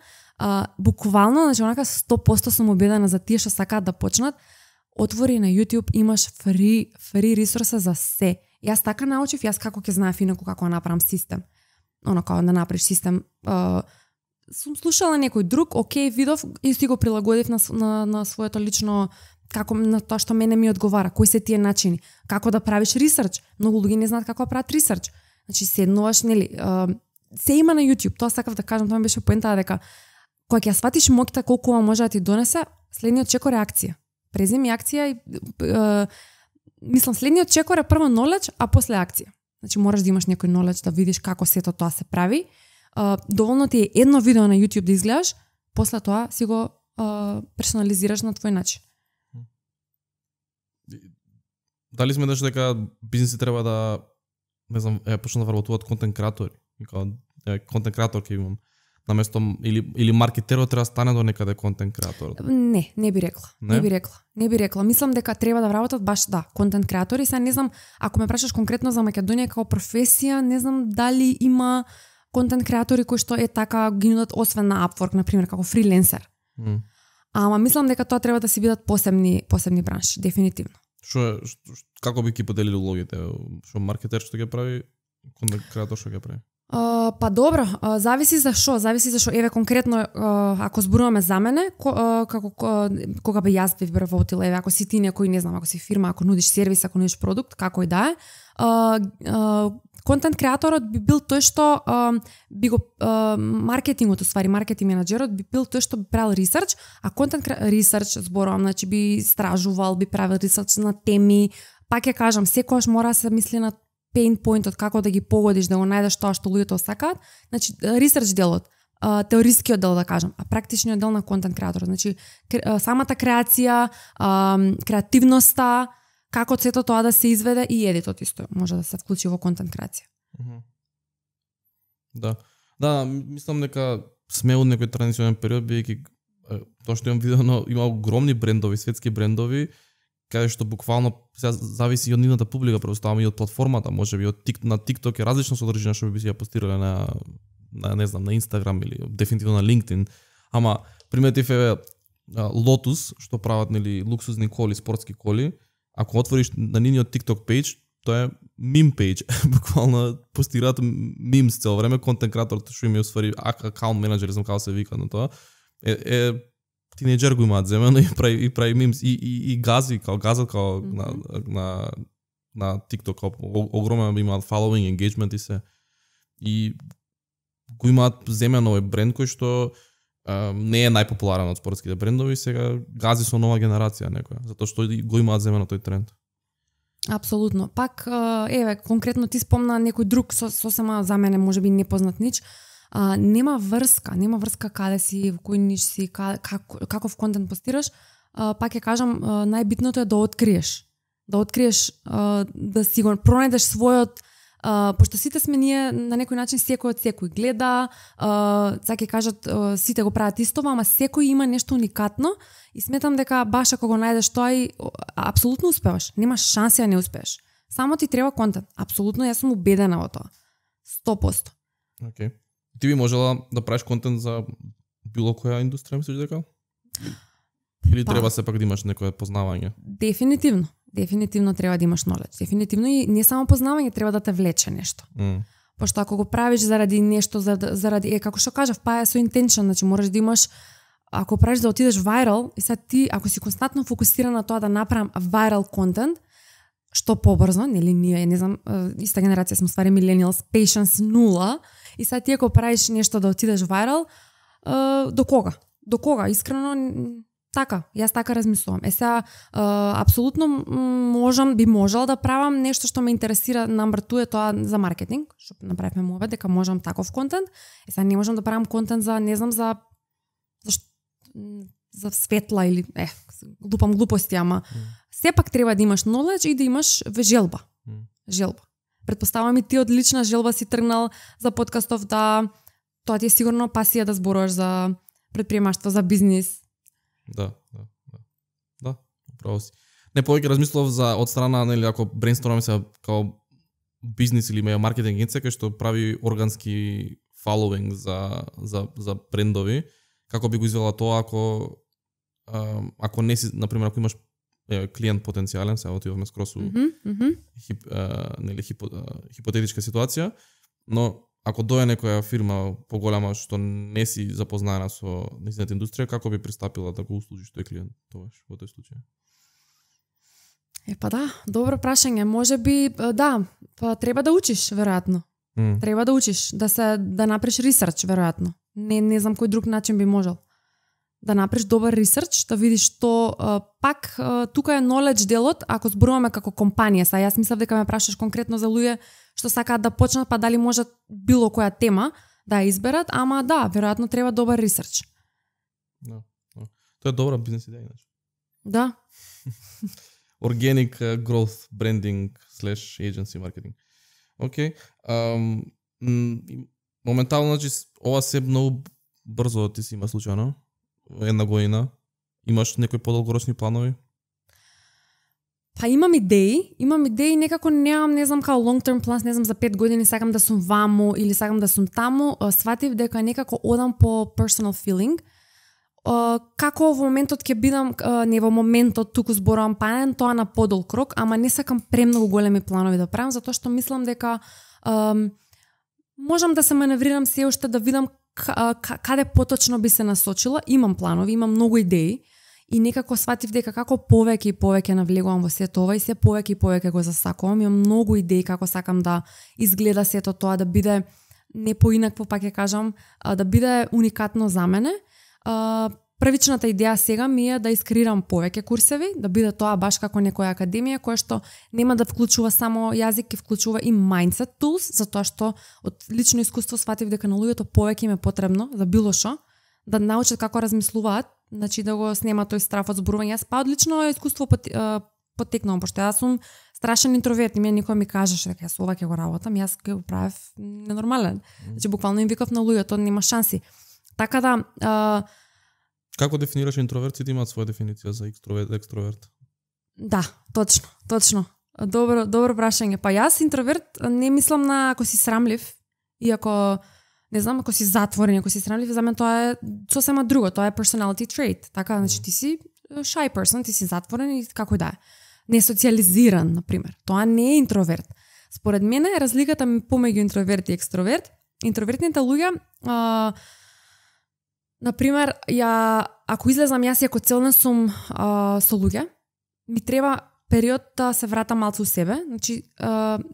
Буквално, значи онака 100% сум убедена за тие што сакаат да почнат. Отвори на YouTube, имаш фри ресурса за се. Јас така научив, јас како ќе знаев инаку како да направам систем. Онака да направиш систем. Сум слушала некој друг, окей, видов и си го прилагодив на своето лично, како на тоа што мене ми одговара, кои се тие начини, како да правиш ресерч. Многу луѓе не знаат како да прават ресерч. Значи седнуваш, нели, се има на YouTube. Тоа сакав да кажам, тоа ми беше поентата дека кога ќе сватиш моќта колку може да ти донесе, следниот чекор е акција. Преземи акција и мислам следниот чекор е прво knowledge, а после акција. Значи мораш да имаш некој knowledge да видиш како сето тоа се прави. Доволно ти е едно видео на YouTube да изгледаш, после тоа си го персонализираш на твој начин. Дали сметаш дека бизниси треба да, не знам, почнат да вработуваат контент креатори? Контент креатор ќе имам. Наместо или маркетерот треба да стане до некаде контент креатор? Не би рекла. Не би рекла. Мислам дека треба да вработат баш контент креатори. Сега не знам, ако ме прашаш конкретно за Македонија како професија, не знам дали има контент креатори кои што така ги нудат освен на Upwork, на пример, како фриленсер. Ама мислам дека тоа треба да си бидат посебни бранши, дефинитивно. Како би ги поделили улогите? Што маркетер што ќе прави, контент креатор што ќе прави? Па добро, зависи за што. Еве конкретно ако зборуваме за мене, како кога би јас би вработила, еве ако си ти некој, не знам, ако си фирма, ако нудиш сервис, ако нудиш продукт, како и да е, контент креаторот би бил тој што би го маркетингот, маркетинг менаџерот би бил тој што би правил ресерч, а контент ресерч зборувам, значи би истражувал, би правил ресерч на теми, пак ќе кажам, секогаш мора да се мисли на pain point-от како да ги погодиш, да го најдеш тоа што луѓето сакаат. Значи ресерч делот, теорискиот дел да кажам, а практичниот дел на контент креаторот, значи самата креација, креативноста, како сето тоа да се изведе и едитот исто може да се вклучи во контент креација. Да, мислам дека сме од некој транзиционен период, бидејќи тоа што имам видено, има огромни брендови, светски брендови, каде што буквално сега зависи од нивната публика, предоставаме и од платформата, можеби од на TikTok е различно содржина што би си ја постирале на не знам, на Instagram или дефинитивно на LinkedIn. Ама приметив е Lotus што прават нели луксузни коли, спортски коли, ако отвориш на нивниот TikTok page, тоа е мим page, буквално постираат мимс цело време, контент креаторот што им е усвари акаунт менаџер, знам како се вика на тоа. Тинејџер го имаат земено и прави мимс и газат као на TikTok, огромен имаат following, engagement и се. И го имаат земено овој бренд кој што не е најпопуларен од спортските брендови, сега гази со нова генерација некоја, затоа што го имаат земено тој тренд. Апсолутно. Пак еве конкретно ти спомна некој друг сосема за мене можеби непознат нич. Нема врска каде си, во кој ниш си, каков контент постираш. Пак ќе кажам, најбитното е да откриеш, да си го пронајдеш својот, пошто сите сме ние на некој начин, секој од секој гледа, сега ќе кажат сите го прават истово, ама секој има нешто уникатно и сметам дека баш ако го најдеш тоа и апсолутно успеваш, немаш шанси да не успееш. Само ти треба контент. Апсолутно, јас сум убедена во тоа. 100%. Океј. Ти би можела да правиш контент за било која индустрија, мислиш дека? Или треба сепак да имаш некое познавање? Дефинитивно треба да имаш knowledge. Дефинитивно и не само познавање, треба да те влече нешто. Пошто ако го правиш заради нешто, заради како што кажав, па е со intention, значи можеш да имаш, ако правиш да отидеш viral, и сега ти ако си константно фокусиран на тоа да направам viral контент, што побрзо, нели ние, не знам, иста генерација сме ствари millennials, patience 0, и сега ти ако правиш нешто да отидеш viral, до кога? До кога? Искрено така, јас така размислувам. Сега апсолутно би можел да правам нешто што ме интересира, number 2 е тоа за маркетинг, што направивме мовет дека можам таков контент. Сега не можам да правам контент за не знам за светла или лупам глупости, ама сепак треба да имаш knowledge и да имаш желба. Предпоставам и ти од лична желба си тргнал за подкастов, да тоа ти е сигурно пасија да зборуваш за предприемаштво, за бизнис. Да, право си. Не, повеќе размислував за од страна, нели, ако брейнстормаме се као бизнис или маркетинг агенција кој што прави органски following за брендови, како би го извела тоа ако не си, например, ако имаш клиент потенцијален, сега отиваме скрос у хипотетичка ситуација, но ако дојде некоја фирма поголема што не си запознаена со нејзината индустрија, како би пристапила да го услужиш тој клиент тогаш во тој случај? Па да, добро прашање. Можеби, да, па треба да учиш, веројатно. Треба да учиш, да направиш ресерч веројатно. Не знам кој друг начин би можел. Да направиш добар ресерч, да видиш што пак тука е knowledge делот, ако зборуваме како компанија. Са јас мислев дека ме прашаш конкретно за луѓе што сакаат да почнат, па дали можат било која тема да ја изберат, ама да, веројатно треба добар ресерч. Да. Тоа е добра бизнес идеја иначе. Да. Organic growth branding / agency marketing. Океј. Моментално, значи, ова се многу брзо ти си има случајно. Една година. Имаш некои подолгорочни планови? Па имам идеи, некако немам, не знам, као long term plans, не знам, за 5 години сакам да сум ваму или сакам да сум таму. Сватив дека некако одам по personal feeling. Како во моментот ќе бидам, не во моментот, туку зборувам панен, тоа на подолг рок, ама не сакам премногу големи планови да правам, затоа што мислам дека можам да се маневрирам се уште да видам каде поточно би се насочила. Имам планови, имам многу идеи и некако сватив дека како повеќе и повеќе навлегувам во сето ова и се повеќе и повеќе го засакувам. Имам многу идеи како сакам да изгледа сето тоа, да биде не поинакво, пак ќе кажам, да биде уникатно за мене. Првичната идеја сега ми е да искреирам повеќе курсеви, да биде тоа баш како некоја академија која што нема да вклучува само јазик, ќе вклучува и mindset tools, затоа што од лично искуство сватив дека на луѓето повеќе им е потребно за било што, да научат како размислуваат, значи да го снема тој страф од зборување. Јас па одлично искуство потекнувам, пошто јас сум страшен интроверт и некој ми кажеше дека јас ова ќе го работам, јас ќе го правев ненормален. Значи буквално им викав на луѓето, нема шанси. Така да... Како дефинираш интроверт? Сите имаат своја дефиниција за екстроверт. Да, точно. Добро прашање. Па јас интроверт не мислам на ако си срамлив и ако, не знам, ако си затворен, ако си срамлив, за мен тоа е сосема друго, тоа е personality trait. Така, значи ти си shy person, ти си затворен и како да е. Не социализиран, например. Тоа не е интроверт. Според мене разликата помеѓу интроверт и екстроверт, интровертните луѓе например, ако излезам јас и ако целна сум со луѓе, ми треба период да се вратам малку у себе. Значи,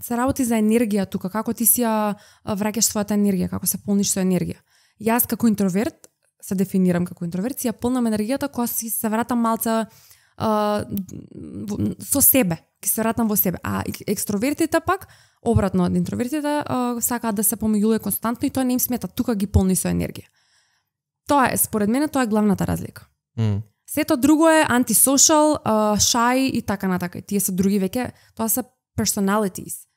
се работи за енергија тука, како ти си ја враќаш својата енергија, како се полниш со енергија. Јас како интроверт, се дефинирам како интроверт, си ја полнам енергијата кога си се вратам малце со себе, ќе се вратам во себе. А екстровертите пак, обратно од интровертите, сакаат да се помеѓуваат константно и тоа не им смета, тука ги полни со енергија. Тоа е, според мене, тоа е главната разлика. Сето друго е антисошал, shy и така натака. Тие се други веќе, тоа се personalities.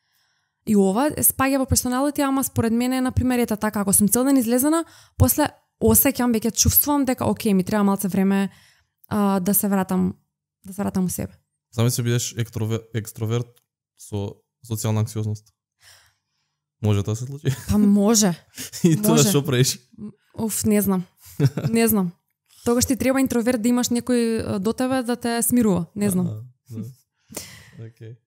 И ова спаѓа во personality, ама според мене, например, ета така, ако сум цел ден излезена, после осеќам, веќе чувствувам дека окей, ми треба малце време да се вратам у себе. Зами се бидеш екстроверт со социјална анксиозност. Може тоа се случи? Па може. И тоа што правиш? Не знам. Тогаш ти треба интроверт да имаш некој до тебе да те смирува. Не знам. Океј.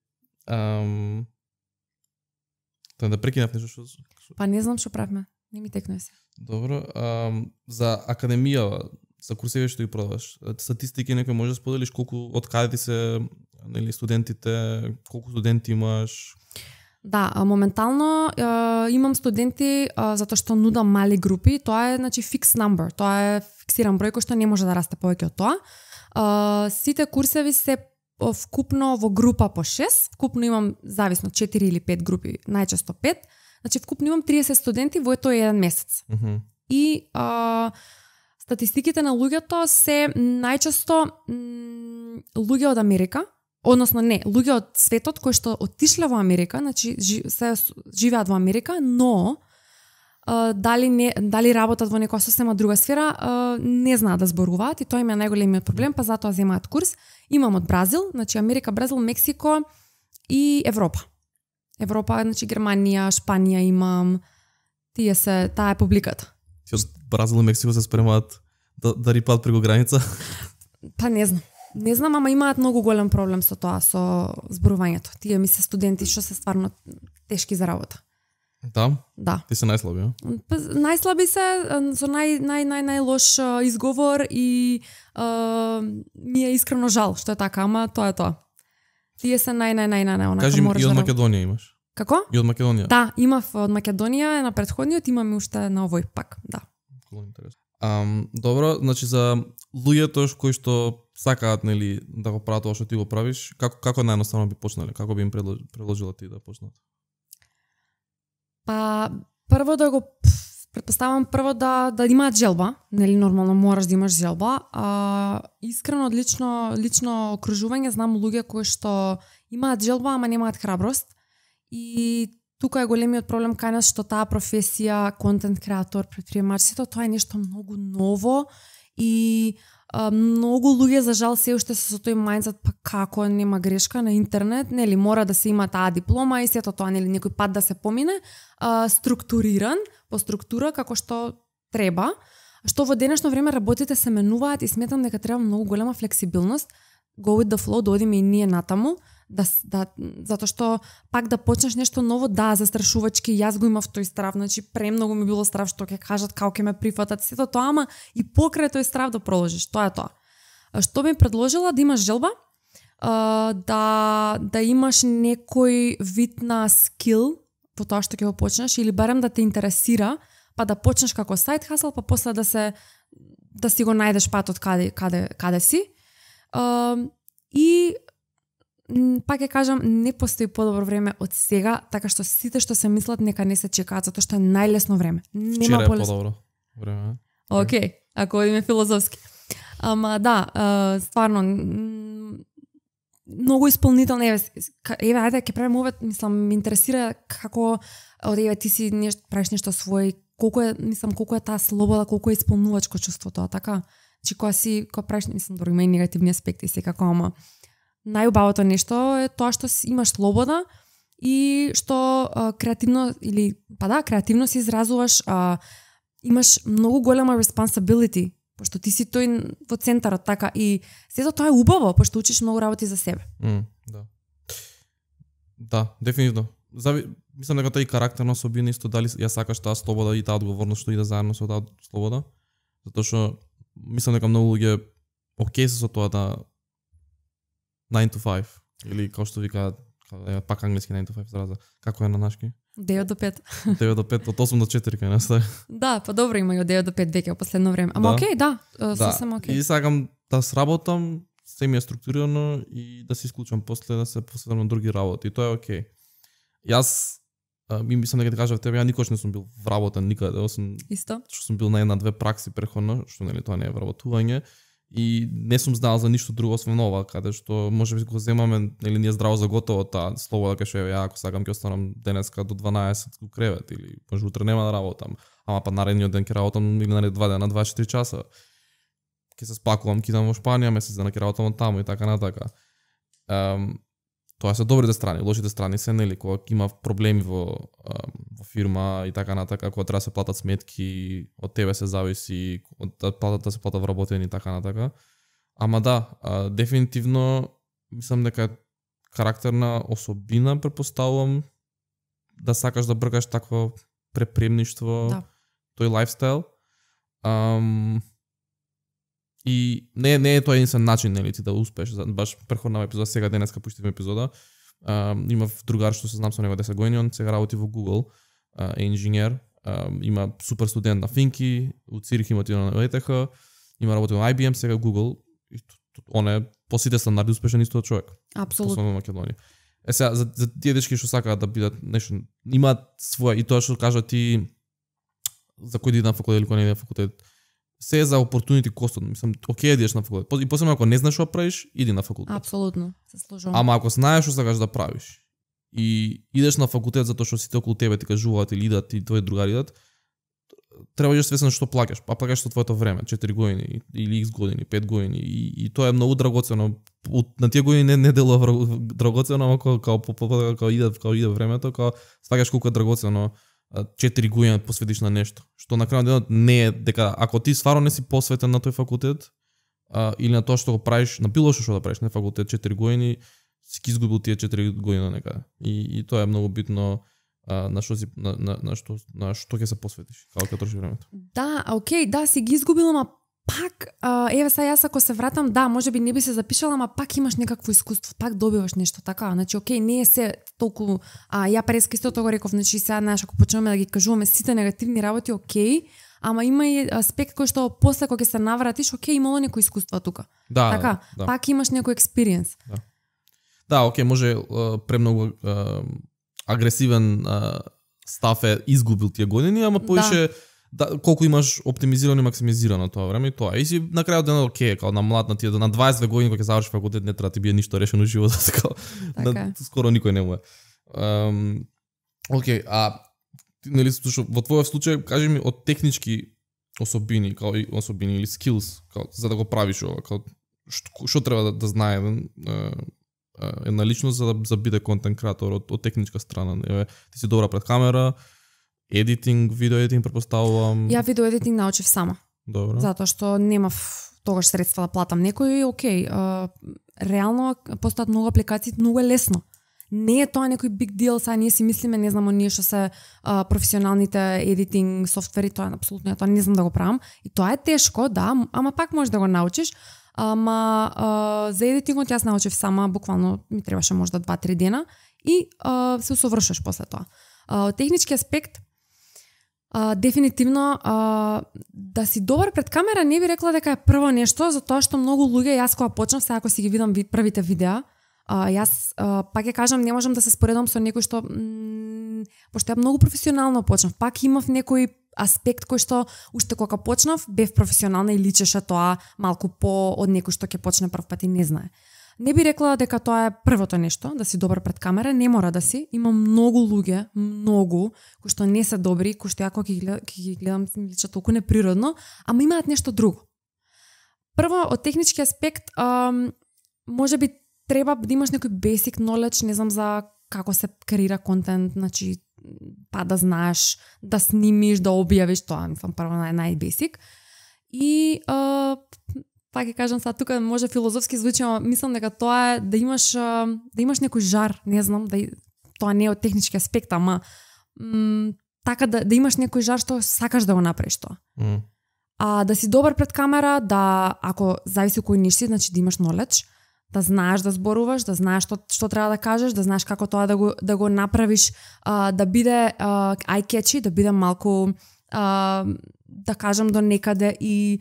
Тоа да прекинав нешто што... Па не знам што правиме. Не ми текнува се. Добро. За академија, за курсеви што ги продаваш, статистики некој може да споделиш колку, од каде ти се студентите, колку студенти имаш? Да, моментално имам студенти затоа што нудам мали групи, тоа е значи fixed number, тоа е фиксиран број кој што не може да расте повеќе од тоа. Сите курсеви се вкупно во група по 6, вкупно имам зависно 4 или 5 групи, најчесто 5. Значи вкупно имам 30 студенти во тој еден месец. И статистиките на луѓето се најчесто луѓе од Америка. Односно не, луѓе од светот кои што отишле во Америка, значи се живеат во Америка, но дали работат во некоја сосема друга сфера, не знаат да зборуваат и тоа им е најголемиот проблем, па затоа земаат курс. Имам од Бразил, значи Америка, Бразил, Мексико и Европа. Европа, значи Германија, Шпанија имам, таа е публиката. Ти од Бразил и Мексико се спремаат да рипаат преку граница? Па не знам. Не знам, ама имаат многу голем проблем со тоа, со зборувањето. Тие ми се студенти што се стварно тешки за работа. Да? Да. Ти се најслаби, а? Најслаби се, со најлош изговор и ми е искрено жал што е така, ама тоа е тоа. Тие се најонака кажи ми, можеш и од да... Македонија имаш? Како? И од Македонија. Да, имав од Македонија, на претходниот имам уште на овој пак, да. Добро, значи за луѓето кои што сакаат нели да го прават тоа што ти го правиш, како наједноставно би почнале? Како би им предложила ти да почнат? Па прво да го претпоставам да имаат желба, нели нормално мораш да имаш желба. Искрено од лично окружување знам луѓе кои што имаат желба, ама немаат храброст. И тука е големиот проблем кај нас што таа професија, контент креатор, претприемачството, тоа е нешто многу ново и многу луѓе за жал се уште се со тој мајндсет, па како нема грешка на интернет, нели мора да се има таа диплома и сето тоа, нели некој пат да се помине, структуриран по структура како што треба, што во денешно време работите се менуваат и сметам дека треба многу голема флексибилност, go with the flow, да одиме и ние натаму, затоа што пак да почнеш нешто ново, да, застрашувачки, јас го имав тој страв, значи премногу ми било страв што ќе кажат како ќе ме прифатат, сето тоа, ама и покрај тој страв да продолжиш, тоа е тоа. Што би предложила, да имаш желба, да имаш некој вид на скил во тоа што ќе го почнеш или барем да те интересира, па да почнеш како сайт хасл, па после да си го најдеш патот каде си. И пак ќе кажам, не постои подобро време од сега, така што сите што се мислат нека не се чекаат, затоа што е најлесно време. Вчера е подобро време. Океј, ако одиме филозофски. Ама да, стварно многу исполнително, еве ајде ќе правиме овој, мислам, ме интересира како еве ти си правиш нешто свој, колку е таа слобода, колку е исполнувачко чувство тоа, така? Чи кога правиш, мислам, добро има и негативни аспекти секако, ама најубавото нешто е тоа што имаш слобода и што креативно креативно се изразуваш, имаш многу голема responsibility, пошто ти си тој во центарот, така, и сето тоа е убаво, пошто учиш многу работи за себе. Да, дефинитивно. Мислам дека тоа и карактерна особина исто, дали ја сакаш таа слобода и таа одговорност што иде заедно со таа слобода, затоа што мислам дека многу луѓе окей се со тоа да 9 to 5, или како што викаат, пак англиски 9 to 5 зараза. Како е на нашки? 9 до 5. 9 до 5, од 8 до 4 кај нас. Да, па добро има и од 9 до 5 веќе во последно време. Ама окей, да, сосем окей. И сакам да сработам, се ми е структурирано и да се исклучам после да се посветам на други работи. И тоа е окей. Јас мислам дека ти кажав тебе, ја никош не сум бил вработен никаде, освен исто. Што сум бил на една-две пракси преходно, што нели тоа не е вработување. И не сум знал за ништо друго освен ова, каде што можеби го земаме, или ние здраво за готово таа слобода, кај што ја ако сакам ќе останам денеска до 12 во кревет, или може утре нема да работам, ама па наредниот ден ќе работам или наредни 2 дена 24 часа. Ќе се спакувам, ќе идам во Шпанија месец дена, ќе работам таму и така натака. Тоа се добрите страни, лошите страни се нели кога има проблеми во фирма и така натака, кога треба да се платат сметки, од тебе се зависи, од платата се плата вработени и така натака. Ама да, дефинитивно мислам дека карактерна особина претпоставувам да сакаш да бркаш такво препремништво, да. Тој лајфстайл. И не е тоа единствен начин нели ти да успееш. Баш претходна епизода, сега денеска пуштивме епизода. Имав другар што се знам со него 10 години, он сега работи во Google, е инженер, има супер студент на Финки, у Цирих има отиде на ETH, има работи на IBM, сега Google, и он е по сите стандарди успешен исто човек. Апсолутно. Во Македонија. Сега за тие дечки што сакаат да бидат нешто, имаат своја, и тоа што кажа ти за кој да иде на факултет или кој не иде на факултет, се е за opportunity cost, мислам, окей идеш на факултет. И посебно ако не знаеш што правиш, иди на факултет. Апсолутно, се сложувам. Ама ако знаеш што сакаш да правиш и идеш на факултет затоа што сите околу тебе ти кажуваат или идат и твои другари идат, треба да свесен што плаќаш. Па плаќаш со твоето време, 4 години или X години, 5 години и тоа е многу драгоцено. На тие години не делува драгоцено, ама кога иде времето, кога сваќаш колку е драгоцено 4 години посветиш на нешто, што на крајот денот не е дека ако ти стварно не си посветен на тој факултет или на тоа што го правиш, на било што да правиш на факултет 4 години, си ги изгубил тие 4 години некаде. И тоа е многу битно на што ќе се посветиш, како ќе троши времето. Да, окей, да, си ги изгубил, ама Пак, еве сега јас ако се вратам, да, можеби не би се запишала, ама пак имаш некакво искуство, пак добиваш нешто така. Значи, окей, не е се толку, ја преска истото го реков, значи сега, знаеш, ако почнеме да ги кажуваме сите негативни работи, окей, ама има и аспект кој што после кога ќе се навратиш, окей, имало некој искуство тука. Да, така, да. пак имаш некој експириенс. Да, окей, може премногу агресивен став е изгубил тие години, ама поише да, колку имаш оптимизирано и максимизирано тоа време и тоа. И си на крајот денот окей, као на млад на тие на 22 години кога ќе завршиш факултет не треба ти бие ништо решено во животот, така. Скоро никој не му е. Окей, нели во твојот случај кажи ми од технички особини, као и особини или skills, као за да го правиш ова, као што треба да знае една личност за да биде контент креатор од техничка страна. Ти си добра пред камера, едитинг, видео едитинг претпоставувам. Ја видео едитинг научив сама. Добро. Затоа што немав тогаш средства да платам некој и окей, реално постојат многу апликации, многу е лесно. Не е тоа некој big deal, сега ние си мислиме, не знам, оние што се професионалните едитинг софтвери, тоа е апсолутно, тоа не знам да го правам. И тоа е тешко, да, ама пак можеш да го научиш. Ама за едитингот јас научив сама, буквално ми требаше можда 2-3 дена и се усовршуваш после тоа. Од технички аспект, дефинитивно да си добар пред камера не би рекла дека е прво нешто, затоа што многу луѓе, јас кога почнав, сега ако си ги видам првите видеа, јас пак ќе кажам, не можам да се споредам со некој што пошто ја многу професионално почнав, пак имав некој аспект кој што уште кога почнав бев професионална и личеше тоа малку по од некој што ќе почне прв пат и не знае. Не би рекла дека тоа е првото нешто, да си добар пред камера, не мора да си. Има многу луѓе, кои што не се добри, кои што ја кога ги гледам ми личат толку неприродно, ама имаат нешто друго. Прво, од технички аспект, можеби треба да имаш некој basic knowledge, не знам, за како се креира контент, значи па да знаеш, да снимиш, да објавиш, тоа мислам прво нај-basic. И пак ќе кажам сега тука може филозофски звучи, ама мислам дека тоа е да имаш некој жар, не знам, тоа не е од технички аспект, ама така да имаш некој жар што сакаш да го направиш тоа. Да си добар пред камера, да ако зависи кој ниш си, значи да имаш knowledge, да знаеш да зборуваш, да знаеш што треба да кажеш, да знаеш како тоа да го направиш, да биде eye-catchy, да биде малку да кажам до некаде и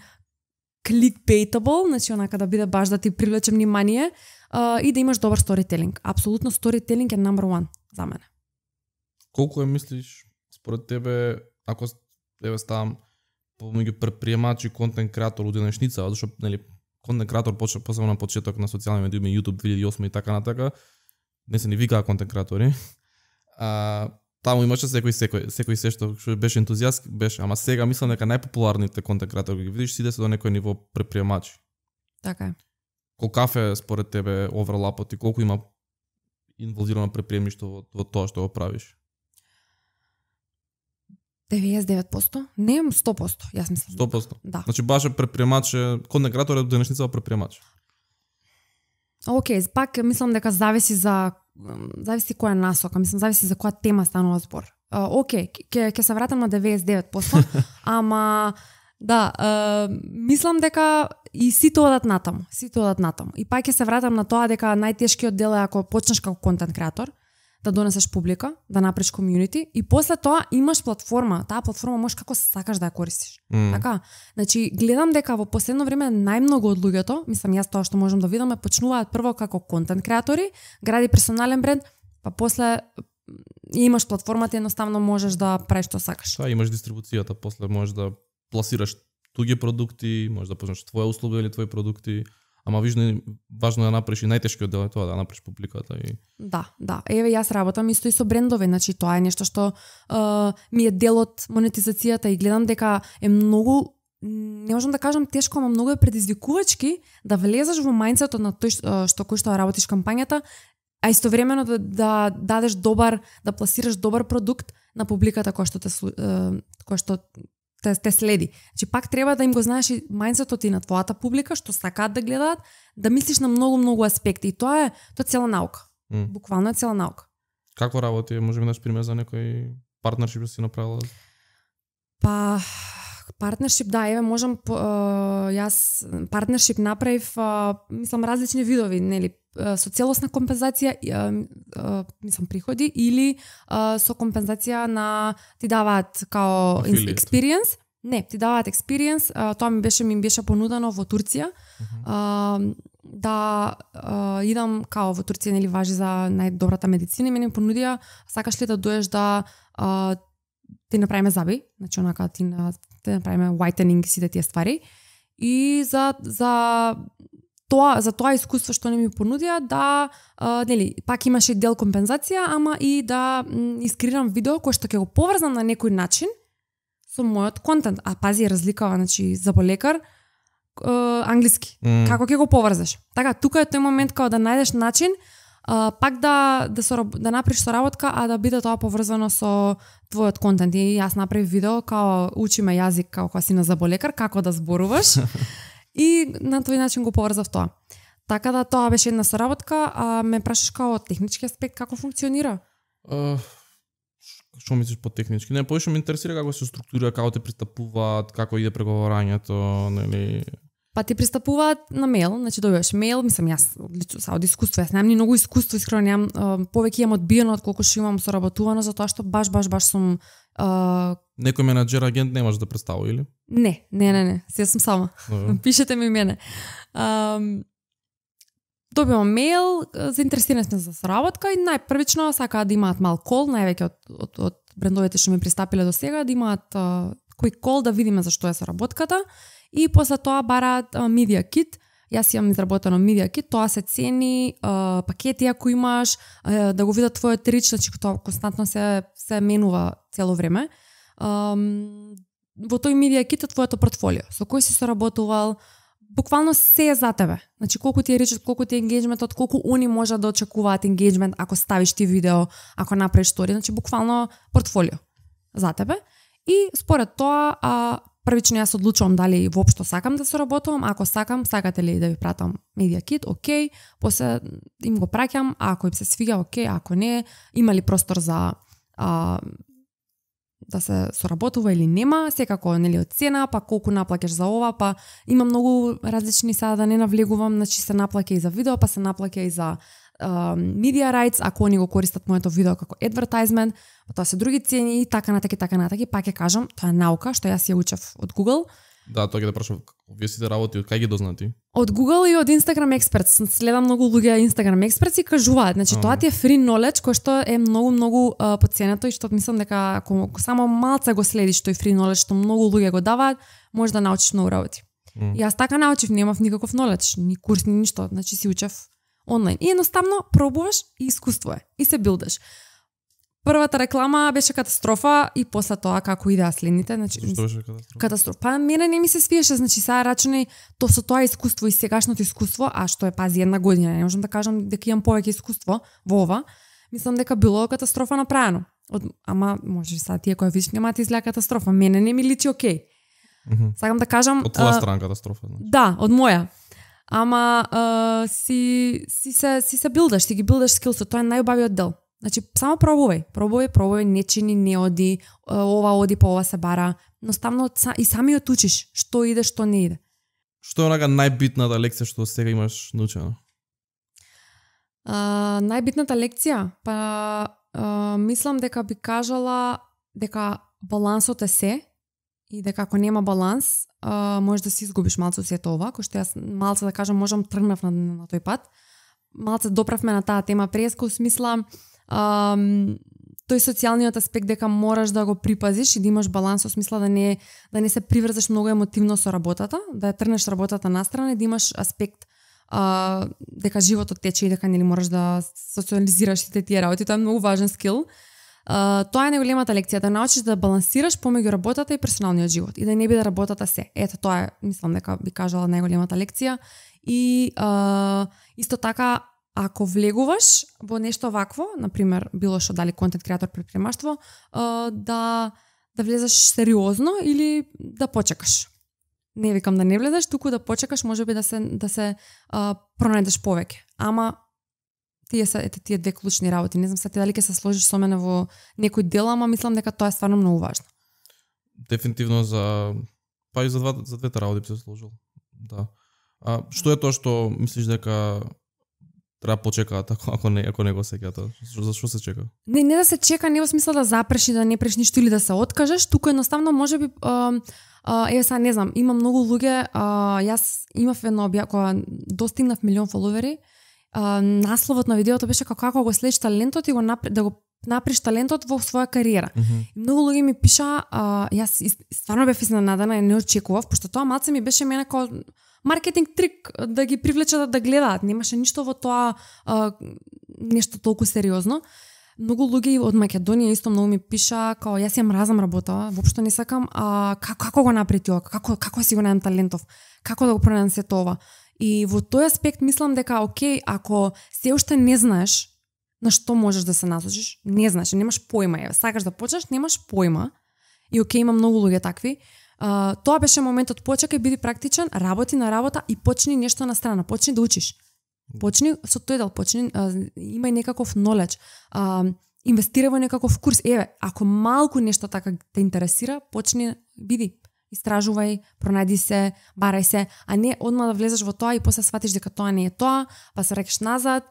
clickbaitable, значи онака да биде баш да ти привлече внимание и да имаш добар сторителинг. Апсолутно сторителинг е number one за мене. Колку мислиш според тебе, ако ставам помеѓу предприемач и контент креатор у денешница, зашто нели контент креатор почна посебно на почеток на социјални медии, YouTube 2008 и така натака, не се ни викаа контент креатори. Таму имаше секој се што беше ентузијаст, беше, ама сега мислам дека најпопуларните контент креатори ги видиш сиде се до некој ниво предприемачи. Така е. Колкав е според тебе оверлапот и колку има инволвирано предприемништво во тоа што го правиш? 99%? Не, 100%, јас мислам. 100%? Да. Значи баш е предприемач, контент креатор е денешница предприемач. Океј, пак мислам дека зависи која насока, мислам зависи за која тема станува збор. Океј, ќе се вратам на 99%, ама да, мислам дека и сите одат натаму. И пак ќе се вратам на тоа дека најтешкиот дел е ако почнеш како контент креатор, да донесеш публика, да направиш комјунити и после тоа имаш платформа. Таа платформа можеш како сакаш да ја користиш. Така, значи гледам дека во последно време најмногу од луѓето, мислам јас тоа што можам да видам, почнуваат прво како контент креатори, гради персонален бренд, па после имаш платформата, едноставно можеш да правиш што сакаш. Да, имаш дистрибуцијата, после можеш да пласираш туѓи продукти, можеш да почнеш твоја услуга или твои продукти. Ама важно е да направиш и најтешкиот дел е тоа, да направиш публиката. Да. Еве јас работам исто и со брендови, значи тоа е нешто што ми е дел од монетизацијата и гледам дека е многу, не можам да кажам тешко, ама многу е предизвикувачки да влезеш во мајндсетот на тој што кој што работиш кампањата, а истовремено да дадеш да пласираш добар продукт на публиката која што те следи. Значи пак треба да им го знаеш и мајндсетот и на твојата публика, што сакаат да гледаат, да мислиш на многу аспекти. И тоа е цела наука. Буквално е цела наука. Како работи? Може би даш пример за некој партнершип да си направила? Па, Партнершип, да, еве можам јас партнершип направив, мислам различни видови, нели, со целосна компензација, мислам приходи или со компензација на ти даваат као experience. Не, ти даваат experience, тоа ми беше понудено во Турција. Да идам као во Турција, нели важи за најдобрата медицина и мене ми понудија, сакаш ли да доеш да ти направиме заби, значи онака ти направиме whitening сите тие ствари. И за тоа искуство што не ми понудија да нели пак имаше дел компензација, ама и да искреирам видео кој што ќе го поврзам на некој начин со мојот контент. А пази, разликава, значи заболекар англиски. Како ќе го поврзаш? Така, тука е тој момент као да најдеш начин пак да направиш соработка, а да биде тоа поврзано со твојот контент. И јас направив видео као учиме јазик како кога си на заболекар, како да зборуваш. И на тој начин го поврзав тоа. Така да тоа беше една соработка, а ме прашаш као технички аспект како функционира? Што мислиш по технички? Не, повеќе ме интересира како се структурира, како те пристапуваат, како иде преговарањето, нели? Па ти пристапуваат на мејл, значи добиваш мејл, мислам јас лично од искуство, јас немам ни многу искуство, искрено немам, повеќе имам одбиено од колку што имам соработувано, затоа што баш сум некој менаџер агент немаш да представи или? Не, се сум сама. Пишете ми мене. Добивам мејл, заинтересирани сме за соработка и најпрвично сакаат да имаат мал кол, највеќе од брендовите што ми пристапиле до сега, да имаат quick call да видиме за што е соработката. И после тоа бараат Media Kit. Јас имам изработено Media Kit, тоа се цени, пакети ако имаш, да го видат твојот рич, значи тоа константно се менува цело време. Во тој Media Kit е твоето портфолио, со кој си соработувал, буквално се е за тебе. Значи колку ти е ричот, колку ти е енгејџментот, колку они може да очекуваат енгејџмент ако ставиш ти видео, ако направиш стори, значи буквално портфолио за тебе. И според тоа, првично јас одлучувам дали воопшто сакам да соработувам, ако сакате ли да ви пратам Media Kit, окей, после им го праќам, ако им се свига, окей, ако не, има ли простор за да се соработува или нема, секако нели од цена, па колку наплаќаш за ова, па има многу различни, сега да не навлегувам, значи се наплаќа и за видео, па се наплаќа и за media rights, ако они го користат моето видео како advertisement, тоа се други цени и така натаки, пак ќе кажам, тоа е наука што јас ја учев од Google. Да, тоа ќе да прашам, вие сите работи од кај ги дознати? Од Google и од Instagram Experts. Следам многу луѓе Instagram Experts и кажуваат, значи тоа ти е free knowledge кој што е многу потценето и што мислам дека ако само малце го следиш тој free knowledge што многу луѓе го даваат, може да научиш многу работи. Јас така научив, немав никаков knowledge, ни курс, ни ништо, значи си учев онлайн. И едноставно пробуваш и искуство е. И се билдаш. Првата реклама беше катастрофа и после тоа како идеа следните, значи Што беше катастрофа? Катастрофа. Па мене не ми се свиеше, значи сега рачунај со тоа искуство и сегашното искуство, а што е пази една година, не можам да кажам дека имам повеќе искуство во ова. Мислам дека било катастрофа направено. Ама може сега тие кои виш нема ти изгледа катастрофа, мене не ми личи окей. Сакам да кажам од твоја страна катастрофа, значи. Да, од моја. Ама си се билдаш, си ги билдаш скилсот, тоа е најубавиот дел. Значи, само пробувај, не чини, не оди, ова оди, па ова се бара. Едноставно и самиот учиш, што иде, што не иде. Што е онака најбитната лекција што сега имаш научено? Најбитната лекција? Па, мислам дека би кажала дека балансот е се и дека ако нема баланс, може да си изгубиш малце сето ова, кој што јас малце да кажам можам тргнав на тој пат. Малце доправме на таа тема преска, смисла тој социјалниот аспект дека мораш да го припазиш и да имаш баланс, во смисла да не се приврзаш многу емотивно со работата, да ја трнеш работата настрана и да имаш аспект дека животот тече и дека нели мораш да социализираш сите тие работи, тоа е многу важен скил. Тоа е најголемата лекција, да научиш да балансираш помеѓу работата и персоналниот живот и да не биде работата се. Ето тоа е, мислам дека би кажала најголемата лекција и исто така ако влегуваш во нешто вакво, например, било што дали контент креатор, предприемаштво, да влезеш сериозно или да почекаш. Не викам да не влезеш, туку да почекаш, можеби да се пронајдеш повеќе. Ама тие две клучни работи. Не знам сега дали ќе се сложиш со мене во некој дел, ама мислам дека тоа е стварно многу важно. Дефинитивно за Па и за двете работи би се сложил. Да. Што е тоа што мислиш дека треба почекаат ако не го сеќаат? За што се чека? Не да се чека, не во смисла да запреш и да не преш ништо или да се откажеш, туку едноставно можеби еве сега не знам, има многу луѓе, јас имав едно кога достигнав 1 милион фоловери, насловот на видеото беше како го следиш талентот и да го наприш талентот во своја кариера. И многу луѓе ми пиша, јас стварно бев изненадана и не очекував, пошто тоа малце ми беше мене како маркетинг трик да ги привлечат да гледаат. Немаше ништо во тоа нешто толку сериозно. Многу луѓе од Македонија исто многу ми пиша као јас ја мразам работа, воопшто не сакам, како го направи тоа, како си го најдам талентов, како да го пронајдам сето ова. И во тој аспект мислам дека окей, ако се уште не знаеш на што можеш да се насочиш, не знаеш, немаш појма, сакаш да почнеш, немаш појма. И окей, има многу луѓе такви. Тоа беше моментот, почекај, биди практичен, работи на работа и почни нешто на страна, почни да учиш. Почни со тој дел, почни, имај некаков knowledge, инвестирај во некаков курс. Еве, ако малку нешто така те интересира, почни, биди, истражувај, пронајди се, барај се, а не одма да влезеш во тоа и после сватиш дека тоа не е тоа, па се рекеш назад.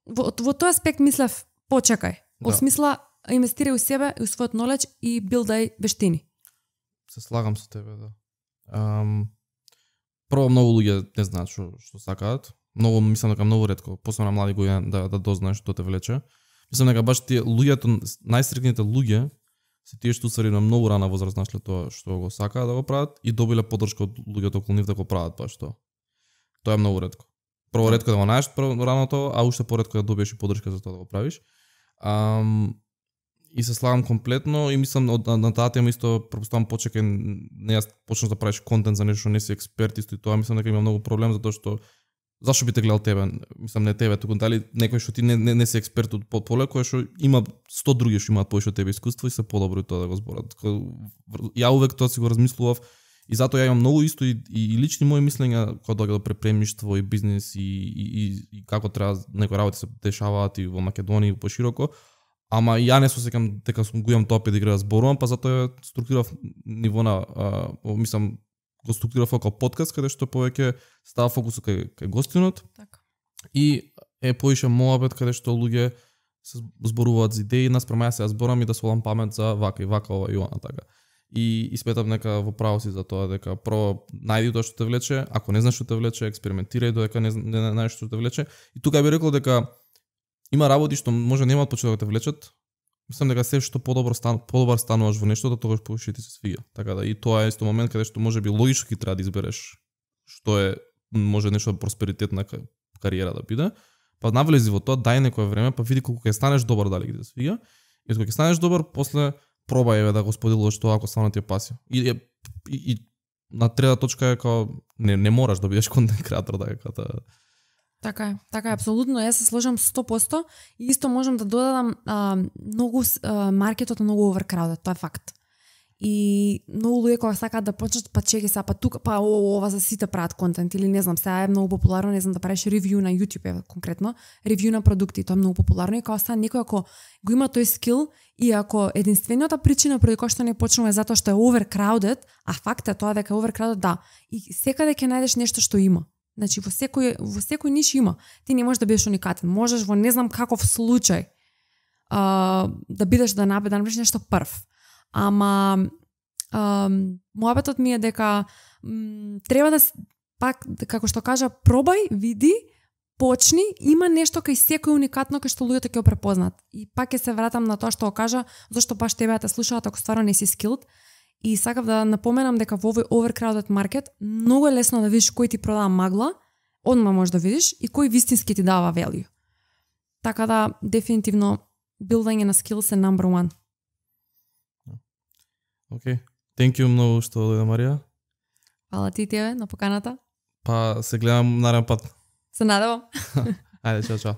Во тој аспект мислев, почекај. Во смисла, инвестирај у себе и у својот knowledge и билдај вештини. Се слагам со тебе, да. Прво, многу луѓе не знаат што сакаат. Мислам дека многу ретко, посебно млади луѓе да дознаеш што те влече. Мислам дека баш тие луѓето, најстрикните луѓе се тие што усвари на многу рана возраст нашле тоа што го сакаат да го прават и добиле поддршка од луѓето околу нив да го прават баш тоа. Тоа е многу ретко. Прво ретко да го најдеш рано тоа, а уште поретко да добиеш и поддршка за тоа да го правиш. И се слагам комплетно и мислам на таа тема исто пропуставам почекај, не јас почнеш да правиш контент за нешто не си експерт исто и тоа мислам дека има многу проблем затоа што зашто би те гледал тебе, мислам не тебе, туку дали некој што ти не си експерт од поле кој што има 100 други што имаат повеќе од тебе искуство и се подобри тоа да го зборат. Ја увек тоа си го размислував и затоа ја имам многу исто и лични мои мислења кога доаѓа до препремништво и бизнис и како треба некои работи се дешаваат и во Македонија и пошироко. Ама ја не се сеќам дека го имам тоа педигре да зборувам, па затоа ја структурирав ниво на мислам го структурирав како подкаст каде што повеќе става фокусот кај гостинот. Така. И е поише моабет каде што луѓе се зборуваат за идеи, наспрема јас се зборам и да свалам памет за вака и вака ова и она така. И сметам нека во право си за тоа дека прво најди тоа што те влече, ако не знаеш што те влече, експериментирај додека не знаеш што те влече. И тука би рекол дека има работи што може нема од почеток да те влечат. Мислам дека се што подобар стануваш во нешто, тогаш повеќе ти се свиѓа. Така да и тоа е исто момент каде што можеби логички треба да избереш што е може нешто просперитетна кариера да биде. Па навлези во тоа, дај некое време, па види колку ќе станеш добар дали ќе се свиѓа. И кога ќе станеш добар, после пробај да го споделуваш тоа ако стварно ти е пасија. И на трета точка е као не мораш да бидеш контент креатор така. Така е, апсолутно, јас се сложам 100% и исто можам да додадам многу маркетот е многу overcrowded, тоа е факт. И многу луѓе кога сакаат да почнат, па чеки са, па тука, па ова за сите прават контент или не знам, сега е многу популарно, не знам да правиш ревју на YouTube конкретно, ревју на продукти, тоа е многу популарно и кога са некој ако го има тој скил и ако единствената причина преди која што не почнува е затоа што е overcrowded, а факт е тоа дека е overcrowded, да, и секаде ќе најдеш нешто што има. Значи во секој ниш има. Ти не можеш да бидеш уникатен. Можеш во не знам каков случај да бидеш да направиш нешто прв. Ама моабетот ми е дека треба да пак како што кажа пробај, види, почни, има нешто кај секој уникатно кај што луѓето ќе го препознат. И пак ќе се вратам на тоа што го кажа, зашто баш тебе те слушаат ако стварно не си skilled. И сакав да напоменам дека во овој overcrowded market многу е лесно да видиш кој ти продава магла, одма можеш да видиш и кој вистински ти дава value. Така да дефинитивно билдање на skills е number one. Океј. Thank you многу што дојде Марија. Фала ти тебе на поканата. Па се гледам нареден пат. Се надевам. Ајде, чао.